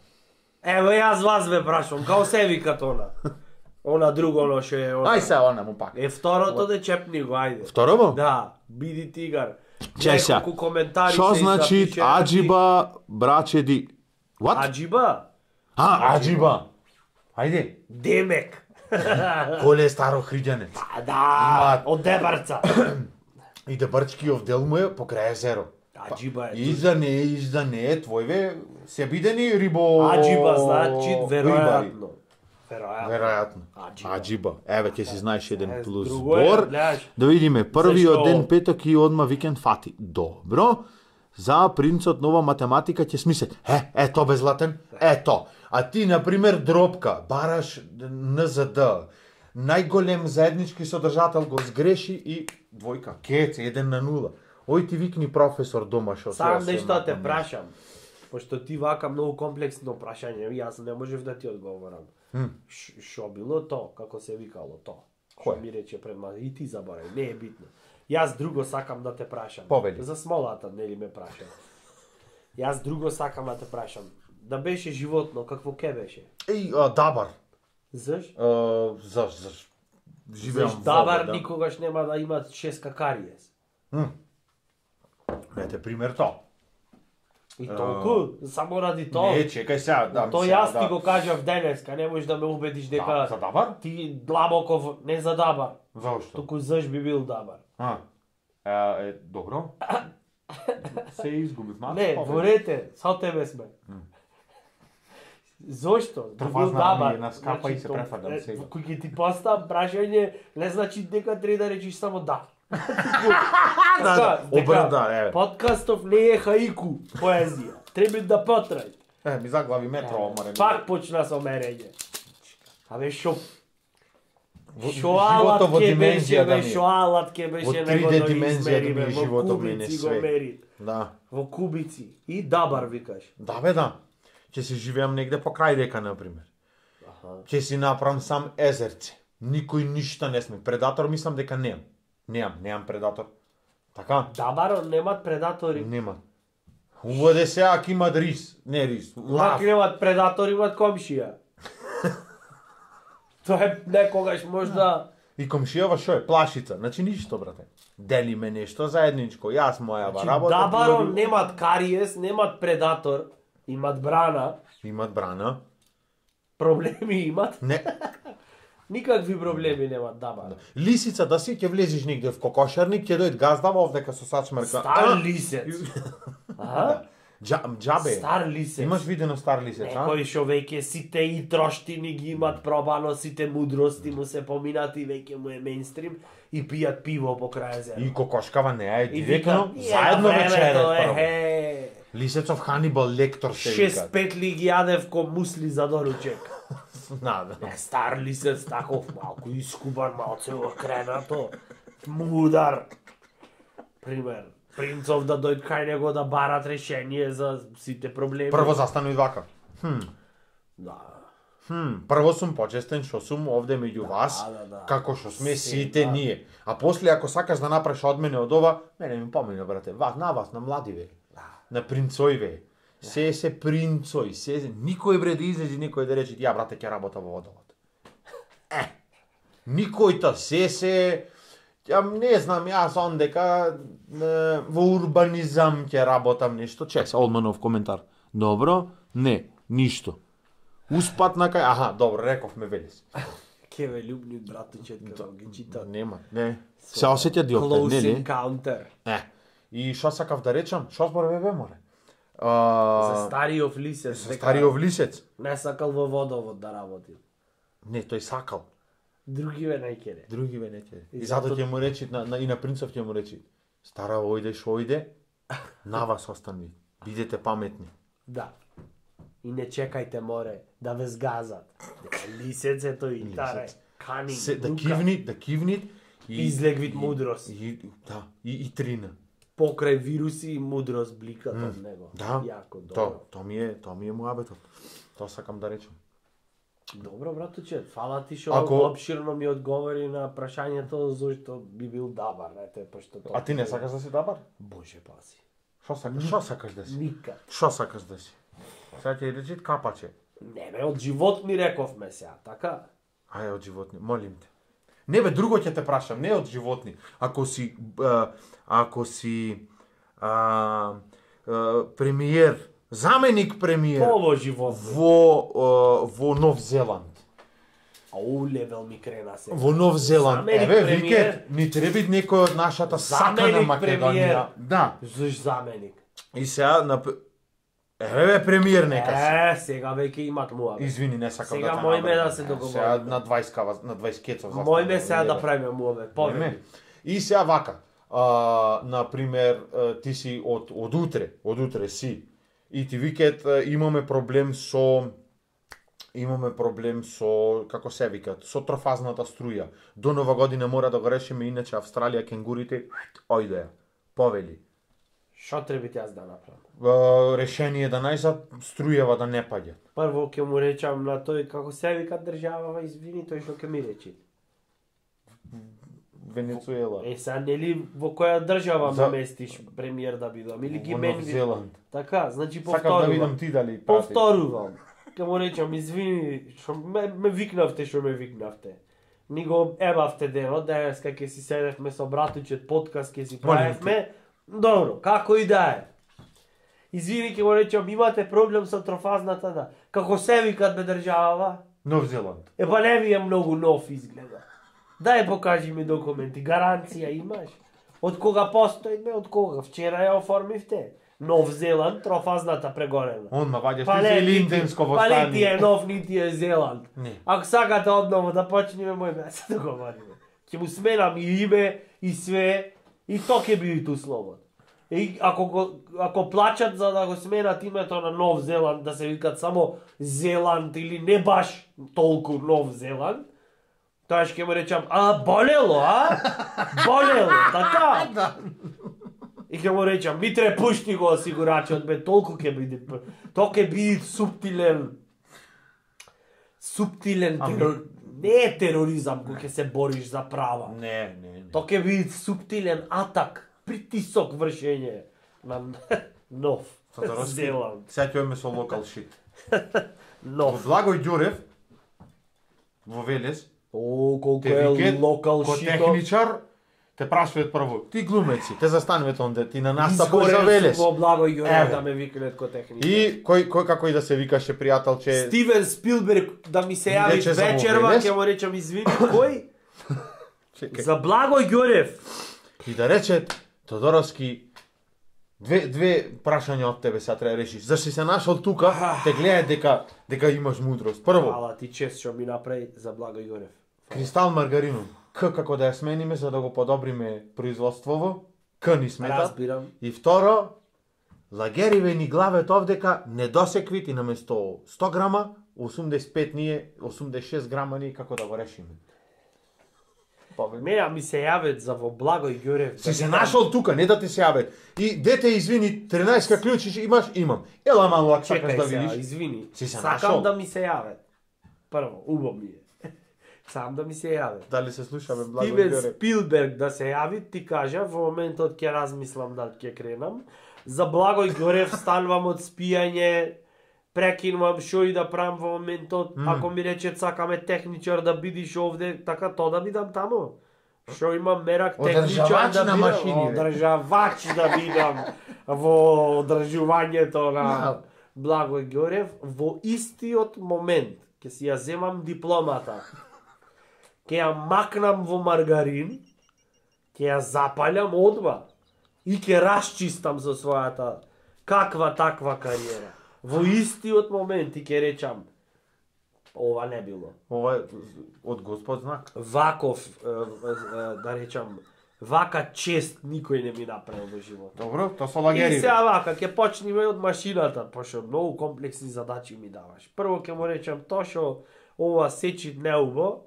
Ево јас вас ме прашам, како се викат она. Она друго оно ше е она. Ај се она му пак. Е второто де чепни го, ајде. Второ? Да, биди тигар. Чеј се. Неколку коментари Што се значи запише, аџиба, брачеди? What? Аџиба? А, Аџиба. Ајде. Демек. Коле е старо хриѓане. А, да, од Дебарца. И да брчкиов дел му е покрај езеро. Аџиба е. Изда не, изда не, твојве се бидени рибо... Аџиба значи рибари. веројатно. Веројатно. Веројатно. Аџиба. Аџиба. Еве, ќе си знаеш еден Е, плюс друго е, збор. гледаш. Да видиме, првиот Зашто? ден петок и одма викенд фати. Добро. За принцот нова математика ќе смислат. Е, ето бе златен, ето. А ти, например, дропка, бараш Н З Д, најголем заеднички содржател го сгреши и двојка, кец, еден на нула. Ој ти викни професор дома шо Сам се нешто да те напомниш. прашам. Пошто ти вака многу комплексно прашање, јас не можев да ти одговорам. Ш- Шо било то, како се викало то? Што Кој? ми рече пред ма, и ти заборави, не е битно. Јас друго сакам да те прашам. Повели. За смолата, нели ме праша. Јас друго сакам да те прашам. Да беше животно, какво ке беше? Еј, а, дабар. Заш? А, заш, заш. Живеам Заш во дабар вода. никогаш нема да има шест какариес. Ете, пример то. И толку, само ради тоа. Не, чекај сега, дам То сега, јас ти да. го кажав денеска, не можеш да ме убедиш дека Да, за дабар? ти длабоков не за дабар, Зошто? туку заш би бил дабар. А, е, е, добро. Се изгубив малку. Не, повели. во рете, со тебе сме. Зошто? Би бил Префазнав дабар. ми една скапа и се то- префадам е, сега. Кој ќе ти поставам прашање, не значи дека треба да речиш само да. Да, да, обрда, еве. Подкастов не е хаику, поезија. Треба да потрај. Е, ми заглави метро, омаре. Пак почна со мерење. Абе шо Во- Шо алат животот во ке беше, димензија да бе, ми е. шо алат ке Во беше три него Д да димензија измери, да ми е бе, во животот мене кубици го све. мери. Да. Во кубици. И дабар викаш. Да, бе, да. Ќе си живеам негде покрај река, например. Аха. Ќе си направам сам езерце. Никој ништа не сме. Предатор мислам дека немам. Немам, немам предатор. Така? Дабаро немат предатори. Нема. Уводе сега ако имат рис. Не рис. Лак Лав. немат предатори, имат комшија. Тоа е некогаш можда... И комшијава шо е? Плашица. Значи ништо, брате. Делиме нешто заедничко. Јас моја Значи, работа. ти дабаро оди- немат кариес, немат предатор, имат брана, Имат брана. проблеми имат. Не. Никакви проблеми немат дабаро. Лисица да си ќе влезеш негде в кокошарник, ќе дојде gazdava овдека со сачмарка. Стар лисец. А? Джа, джабе. Стар лисец. Имаш видено стар лисец, а? Некои шо веќе сите и троштини ги имат пробано, сите мудрости му се поминати, веќе му е мейнстрим и пијат пиво покрај езеро. И кокошкава не е И директно, викам, заедно «Е, на вечерет времето, прво. ехе, Лисецов Ханибал Лектор се шест вика. петли ги јадев ко мусли за доручек. Да, да. Е, стар лисец таков, малку искубан, малце окренато, мудар. Пример, принцов да дојд кај него да барат решение за сите проблеми. Прво застану и вака. Хм, Да. хм, прво сум почестен што сум овде меѓу вас, да, да. како што сме Се, сите да. ние. А после ако сакаш да направиш од мене од ова, мене ми помина, брате, вас, на вас, на младиве, на принцоиве. Се се принцој, се никој бре да излези, никој да рече ја брате ќе работа во водовод. Е. Никој та се се ја не знам, јас он дека е, во урбанизам ќе работам нешто, чес. Олманов коментар. Добро? Не, ништо. Успат на кај, аха, добро, рековме велес. Кеве љубник братучет како ги чита. Нема, не. Се осеќа диоптер, Close нели? encounter. Е. И што сакав да речам? Што зборуве бе море? За А, стариот лисец. за дека стариот лисец. Не сакал во водовод да работи. Не, тој сакал. Други ве најкере. Други ве не ќе. И И затоа зато- ќе му речи на, на и на принцов ќе му речи. Стара ојде шо ојде, на вас останви. Бидете паметни. Да. И не чекајте море да ве згазат. Дека лисецето и таре. Кани. Се да дука. кивни, да кивни и Излег вид и- мудрост. И, да, и, и трина. покрај вируси и мудрост бликат од него. Да. Јако, добро. То, то ми е, то ми е муабетот. Тоа сакам да речам. Добро, братуче, фала ти што Ако- обширно ми одговори на прашањето зошто би бил дабар, ете, пошто тоа. А ти не сакаш да си дабар? Боже паси. Шо сакаш? Шо сакаш да си? Никак. Шо сакаш да си? Сега ќе речи капаче. Не бе, од животни рековме сега, така? Ај, од животни, молим те. Не бе, друго ќе те прашам, не од животни. Ако си, а, ако си а, а, премиер, заменик премиер Ово животни. во, а, во Нов Зеланд. Ау, левел ми крена се. Во Нов Зеланд. Заменик Еве, премиер. вике, ни треби некој од нашата сакана Заменик Македонија. премиер. Да. Зош заменик? И сега на Еве бе премиер нека си. Е, сега веќе имат муабе. Извини, не сакам Сега да те мој ме набркам. да се договориме. Сега на дваесет кава, на дваесет кецов заставам. Мој ме сега да правиме муабе. Не, Повеќе. не. И сега вака, а, например, а, ти си од, од утре, од утре си, и ти викат, а, имаме проблем со, имаме проблем со, како се викат, со трофазната струја. До Нова година мора да го решиме, иначе Австралија, кенгурите, ојде ја, повели. Што треба јас да направам? А, решение да најзад, струјава да не паѓа. Прво ќе му речам на тој како се вика држава, извини, тој што ќе ми речи. Венецуела. Е, сега нели во која држава За- ме местиш премиер да бидам или ги Во мен Нов Зеланд. Така, значи Сакам да повторувам. видам ти дали прати. Повторувам. Ке му речам, извини, што ме, ме викнавте што ме викнавте. Ни го ебавте денот, денеска ќе си седевме со братучет подкаст, ќе си Молим правевме. Добро, како и да е. Извини, ќе му речам, имате проблем со трофазната, да. Како се викат бе држава? Нов Зеланд. Е, па не ми е многу нов изгледа. Дај покажи ми документи, гаранција имаш? Од кога постои, бе, од кога? Вчера ја оформивте. Нов Зеланд, трофазната прегорена. Он ма ваѓаш Па ти не, си линденско па нити е востание. нов, нити е Зеланд. Не. Ако сакате одново да почнеме, мој ме се договориме. Ќе му сменам и име, и све, и то ќе биде ту слобод. И ако, го, ако плачат за да го сменат името на Нов Зеланд, да се викат само Зеланд или не баш толку Нов Зеланд, тоа ќе му речам, а болело, а? Болело, така? И ќе му речам, Митре, пушти го осигурачот, бе, толку ќе биде, тоа ќе биде суптилен, суптилен терор... Не е тероризам кој ќе се бориш за права. Не, не, не. Тоа ќе биде суптилен атак, притисок вршење на Нов Тодоровски, Зеланд. сега ќе одиме со локал шит. Во Нов. Благој Ѓурев, во Велес, О, колку те е викет, локал ко шито. техничар, те прашуваат прво, ти глумеци, те застануват онде, ти на настапот за Изгорел Велес. сум во Благој Ѓурев Еве. да ме викнат ко техничар. И кој, кој како и да се викаше пријателче, Стивен Спилберг да ми се јави Дече за вечерва, Велес. ќе му речам извини, кој? чекај, За Благој Ѓурев. и да рече, Тодоровски, две, две прашања од тебе сега треба да решиш. Зашто си се нашол тука, те гледаат дека, дека имаш мудрост. Прво, Фала ти чест што ми направи за Благој Ѓурев. кристал маргаринум. К како да ја смениме за да го подобриме производството, К ни смета. Разбирам. И второ, лагериве ни главет овдека недосеквит и наместо сто грама, осумдесет и пет ние, осумдесет и шест грама ние како да го решиме. Мене ми се јавет за во Благој Ѓурев. Си се нашол тука, не да ти се јавет. И дете, извини, тринаесет клучи имаш, имам. Ела малку ако сакаш Чекај да сега, видиш. извини. Си се Сакам нашол. да ми се јавет. Прво, убаво ми е. Сам да ми се јавет. Дали се слушаме Благој Стивен Ѓурев? Спилберг да се јави, ти кажа, во моментот ќе размислам дали ќе кренам. За Благој Ѓурев станувам од спијање, прекинувам шо и да правам во моментот, Мм. ако ми рече сакаме техничар да бидиш овде, така то да бидам тамо. Шо имам мерак техничар Одржавач да на бидам, машини, бе. одржавач да бидам во одржувањето на Благој Ѓурев во истиот момент ќе си ја земам дипломата. Ќе ја макнам во маргарин, ќе ја запалјам одма и ќе расчистам со својата каква таква кариера. Во истиот момент и ќе речам, ова не било. Ова е од Господ знак. Ваков, е, е, да речам, вака чест никој не ми направил во живот. Добро, то со И лагериве. сега вака, ќе почнеме од машината, пошто многу комплексни задачи ми даваш. Прво ќе му речам тоа што ова сечи неубо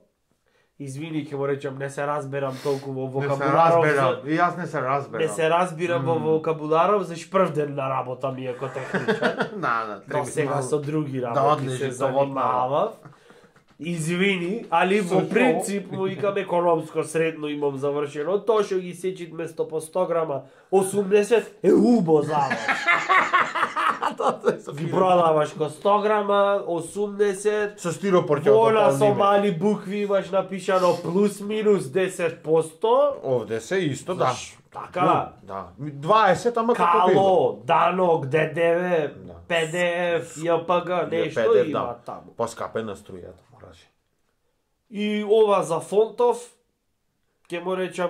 Извини, ќе му речам, не се разберам толку во Не се вокабуларов. разберам. за- И јас не се разберам. Не се разбирам во вокабуларов, за шпрв ден на работа ми е ко техничар. Да, да, Но сега со други Да, работи одлежи, се совотно. занимавав. Извини, али во Со принцип му викам економско средно имам завршено. Тоа што ги сечит место по сто грама, осумдесет е убо за вас. Ги продаваш ко сто грама, осумдесет, Со стиропор ќе Вола со го мали букви имаш напишано плюс минус десет посто. Овде се исто, да. Така, Да. дваесет, ама како било. кало, данок, ДДВ, Да. ПДФ, ЈПГ, нешто Педев, има да. таму. Поскапена струјата, мораше. И ова за фонтов, ќе му речам,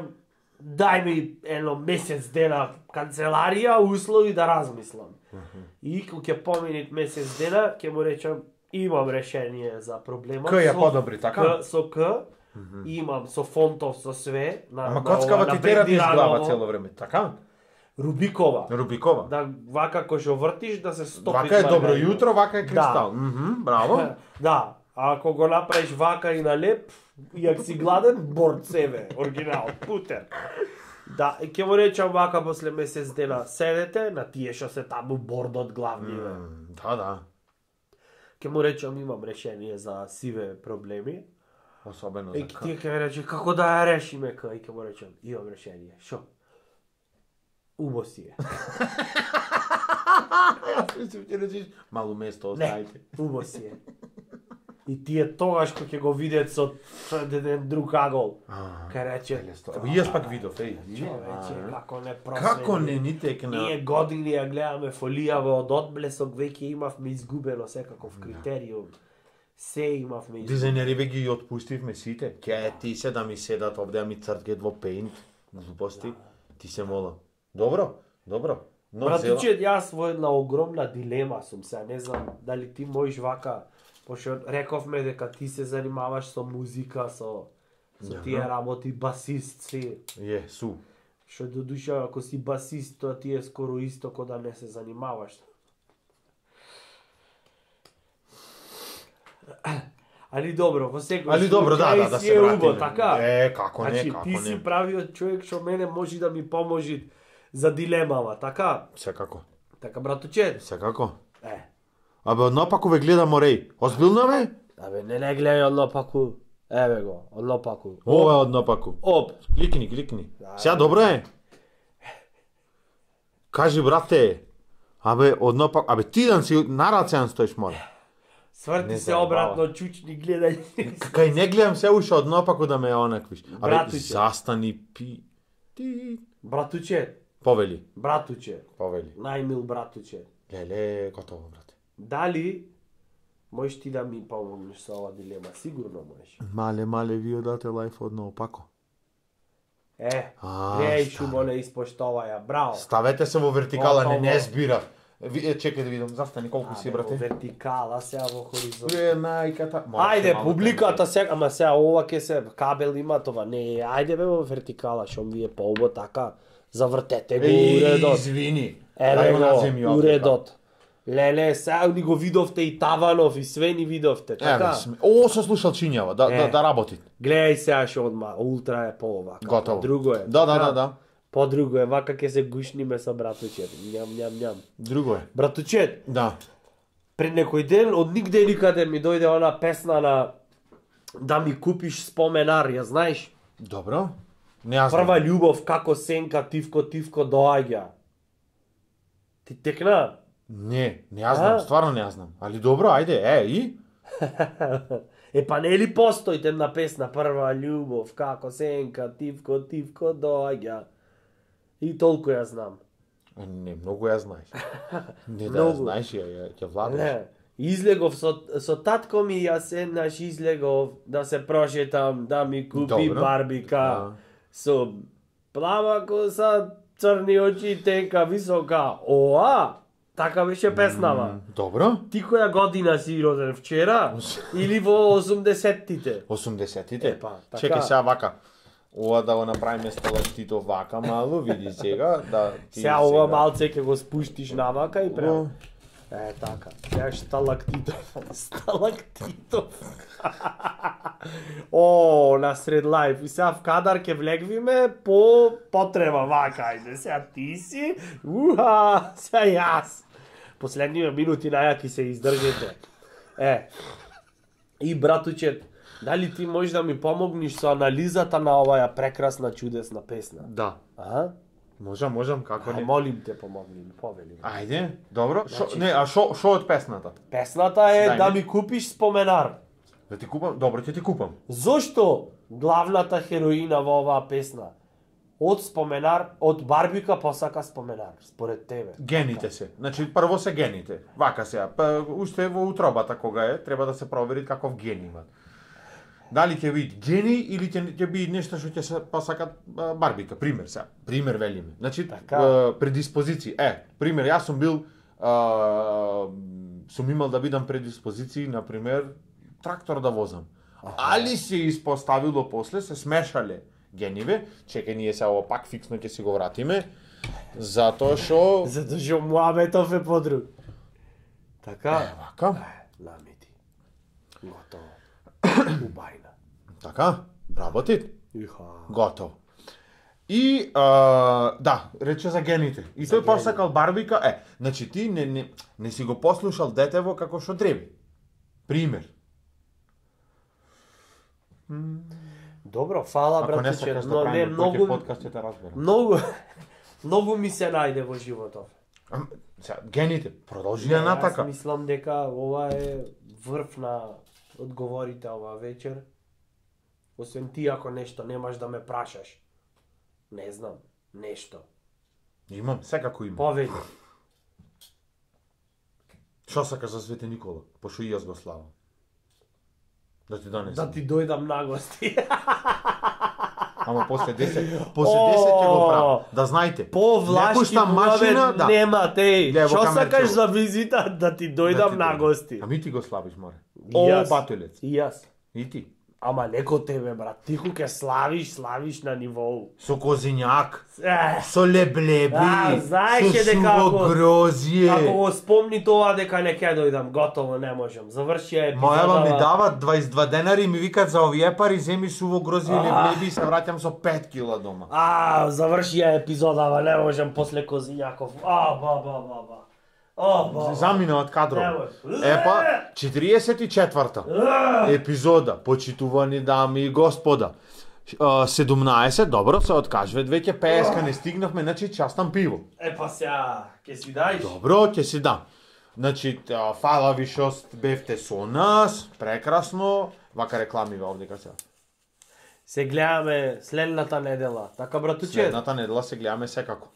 дај ми едно месец дена канцеларија, услови да размислам. И кога ќе поминит месец дена, ќе му речам, имам решение за проблемот. К ја со- подобри, така? К, со К, имам со фонтов, со све. На, Ама на коцкава ова, ти на тера ти изглава брендираново. цело време, така? Рубикова. Рубикова. Да, вака кој што вртиш, да се стопи. Вака е добро маргарита. јутро, вака е кристал. Мгм, браво. Да, а ако го направиш вака и на леп, и ако си гладен, борд себе, оригинал, путер. Да, и ќе му речам вака после месец дена, седете на тие што се таму бордот главниве. М, Да, да. Ќе му речам имам решение за сиве проблеми. Особено И за тие ќе ми рече како да ја решиме кај, и ќе му речам имам решение. Шо? Убо си е. Јас мислам ќе речеш малу место Не, оставите. убо си е. И тие тогаш кога ќе го видат со еден друг агол, ке рече, Абе, јас пак видов, еј. човече, како не просведи. Како не ни текна? Ние години ја гледаме фолијава од одблесок, веќе имавме изгубено секаков критериум. Се имавме изгубено. Дизајнери ги отпустивме сите. Ке ти се да ми седат овде, а ми црткет во пейнт. Глупости. Ти се молам. Добро, добро. Но Братуче, јас во една огромна дилема сум сега, не знам дали ти можеш вака, пошто рековме дека ти се занимаваш со музика, со со Јаха. тие работи, басист си. Е, су. Што до душа, ако си басист, тоа ти е скоро исто ко да не се занимаваш. Али добро, во секој Али добро, да, да, да си се е вратиме. убо, така? Е, како не, Значи, како ти си не. правиот човек што мене може да ми поможи за дилемава, така? Секако. Така, братуче? Секако. Е. Абе, однапаку ве гледам Ореј. Озбилно бе? Абе, не не гледај однопаку. Еве го, однопаку. Ова е однапаку. Оп. Кликни, кликни. Сега добро е. Кажи, брате. Абе, однапаку. Абе, ти дан си на рацеан стоиш, моля. Сврти Не се заебава. обратно, чучни гледај. Кај не гледам се уште однапаку да ме онаквиш. Абе, Братуче. застани, пи... Ти... Братуче, Повели, братуче, повели. најмил братуче. Леле, готово, брате. Дали можеш ти да ми помогнеш со ова дилема? Сигурно можеш. Мале, мале, вие дате лајф одноопако. Е, А, гледај šta? шумо не испоштоваја, браво. Ставете се во вертикала, не, не Готово. збира. Ви- Е, чекај да видам, застани колку си, Абе, во брате. вертикала, сега во хоризонт. Е, најката. Мораш Ајде, малку публиката сега, ама сега ова ке се кабел има това. Не, ајде бе во вертикала, шом ви е поубо така. Завртете го Еј, уредот. извини. Еве Дај го на земја го, овде, уредот. Леле, сега ни го видовте и Таванов и све ни видовте, па. Еве, така? сме- О, со слушалчињава, да, Е. да, да работи. Гледај сега што одма, ултра е по-овака. Готово. Друго е. Да, да, така? да, да. По-друго е, вака ке се гушниме со братучет. Ням, ням, ням. Друго е. Братучет, Да. пред некој ден од нигде никаде ми дојде она песна на да ми купиш споменар, ја знаеш? Добро. Не ја знам. Прва љубов како сенка тивко тивко доаѓа. Ти текна? Не, не ја знам, А? стварно не ја знам. Али добро, ајде, е, и? Е па нели постои темна песна прва љубов како сенка тивко тивко доаѓа. И толку ја знам. Е, Не, многу ја знаеш. Не да ја Многу. знаеш, ја, ја, ја владаш. Не. Излегов со, со татко ми јас еднаш излегов да се прошетам, да ми купи Добро. барбика. Да. Со плава коса, црни очи, тенка, висока. Оа! Така беше песнава. Добро. Ти која година си роден вчера? Или во осумдесеттите? осумдесеттите. Епа, така. Чекај сега вака. Ова да го направиме столаштито вака малу, види сега, да ти Сега ова малце ќе го спуштиш навака и према. Е, така. Сега Шталактитов. Сталактитов. О, на сред лайф. И сега в кадар ке влегвиме по потреба. Вака, ајде, сега ти си. Уха, сега јас. Последниве минути најаки се издржите. Е. И братучет, дали ти можеш да ми помогнеш со анализата на оваа прекрасна чудесна песна? Да. А? Можам, можам, како Ај, не. молим те, помогни ми, повели. Ајде, добро. Шо, Значи- не, а шо, шо од песната? Песната е Дај да ми. ми купиш споменар. Да ти купам? Добро, ќе ти купам. Зошто главната хероина во оваа песна од споменар, од Барбика посака споменар, според тебе? Гените се. Значи, прво се гените. Вака сега. Па, уште во утробата кога е, треба да се провери каков ген имат. Дали ќе биде гени или ќе ќе биде нешто што ќе се посакат а, Барбика, пример сега. Пример велиме. Значи, Така. а, предиспозиции. Е, пример, јас сум бил а, сум имал да бидам предиспозиции, на пример, трактор да возам. Али се испоставило после, се смешале гениве, чекај ние се ово пак фиксно ќе си го вратиме, затоа што Затоа што Муаметов е подруг. Така? е вака, Е, намити. Готово. Убајна. така, работи, Иха. готово. И а, да, рече за гените. И тој посакал Барбика, е, значи ти не, не, не си го послушал детево како што треба. Пример. Добро, фала Ако не братче, сакаш да но не правиме многу многу подкаст ќе те разберам. многу многу ми се најде во животот. Ам, сега, гените, продолжи Не, ја натака. Јас мислам дека ова е врв на одговорите ова вечер. Освен ти ако нешто немаш да ме прашаш. Не знам, нешто. Имам, секако имам. Повели. Што сакаш за Свети Никола? Пошто и јас го славам. Да ти донесам. Да ти дојдам на гости. Ама после десет, после десет ќе го правам. Да знаете. По Не влашки пуштам машина, да. нема теј. Лево Што камерчево. сакаш за визита да ти Да дојдам ти на дојдам. гости? Ами ти го славиш, море. И О, јас. батулец. И јас. И ти. Ама леко тебе, брат. Ти ке славиш, славиш на нивоу. Со козињак, Ех, со леблеби, А, знаеше со дека суво ако- грозје. ако го спомни тоа дека не ќе дојдам, готово не можам. Заврши ја епизода. Мојава ми дават дваесет и два денари и ми викат за овие пари земи суво грозје и леблеби и се враќам со пет кила дома. А, заврши ја епизодава, не можам после Козињаков. А, ба, ба, ба, ба. О, ба. Замина од кадров. Немој. Епа, четириесет и четврта епизода, почитувани дами и господа. А, седумнаесет, добро, се откажват веќе пееска, не стигнавме, значи частам пиво. Епа сега, ќе си даиш? Добро, ќе си дам. Значи, а, фала ви што бевте со нас, прекрасно. Вака рекламива овдека сега. Се гледаме следната недела. Така, братуче, Следната недела се гледаме секако.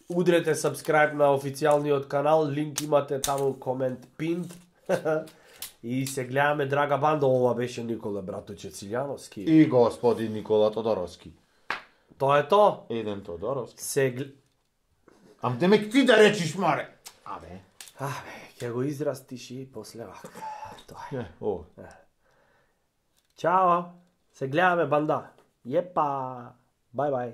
удрете subscribe на официјалниот канал, линк имате таму комент пинт. И се гледаме драга банда, ова беше Никола братуче Цилјановски. И господин Никола Тодоровски. Тоа е то. Еден Тодоровски. Се гл... Ам демек ти да речиш, море. Абе. Абе, ќе го израстиш и после вака. Тоа е. Е, о. Чао. Се гледаме банда. Јепа. Бај бај.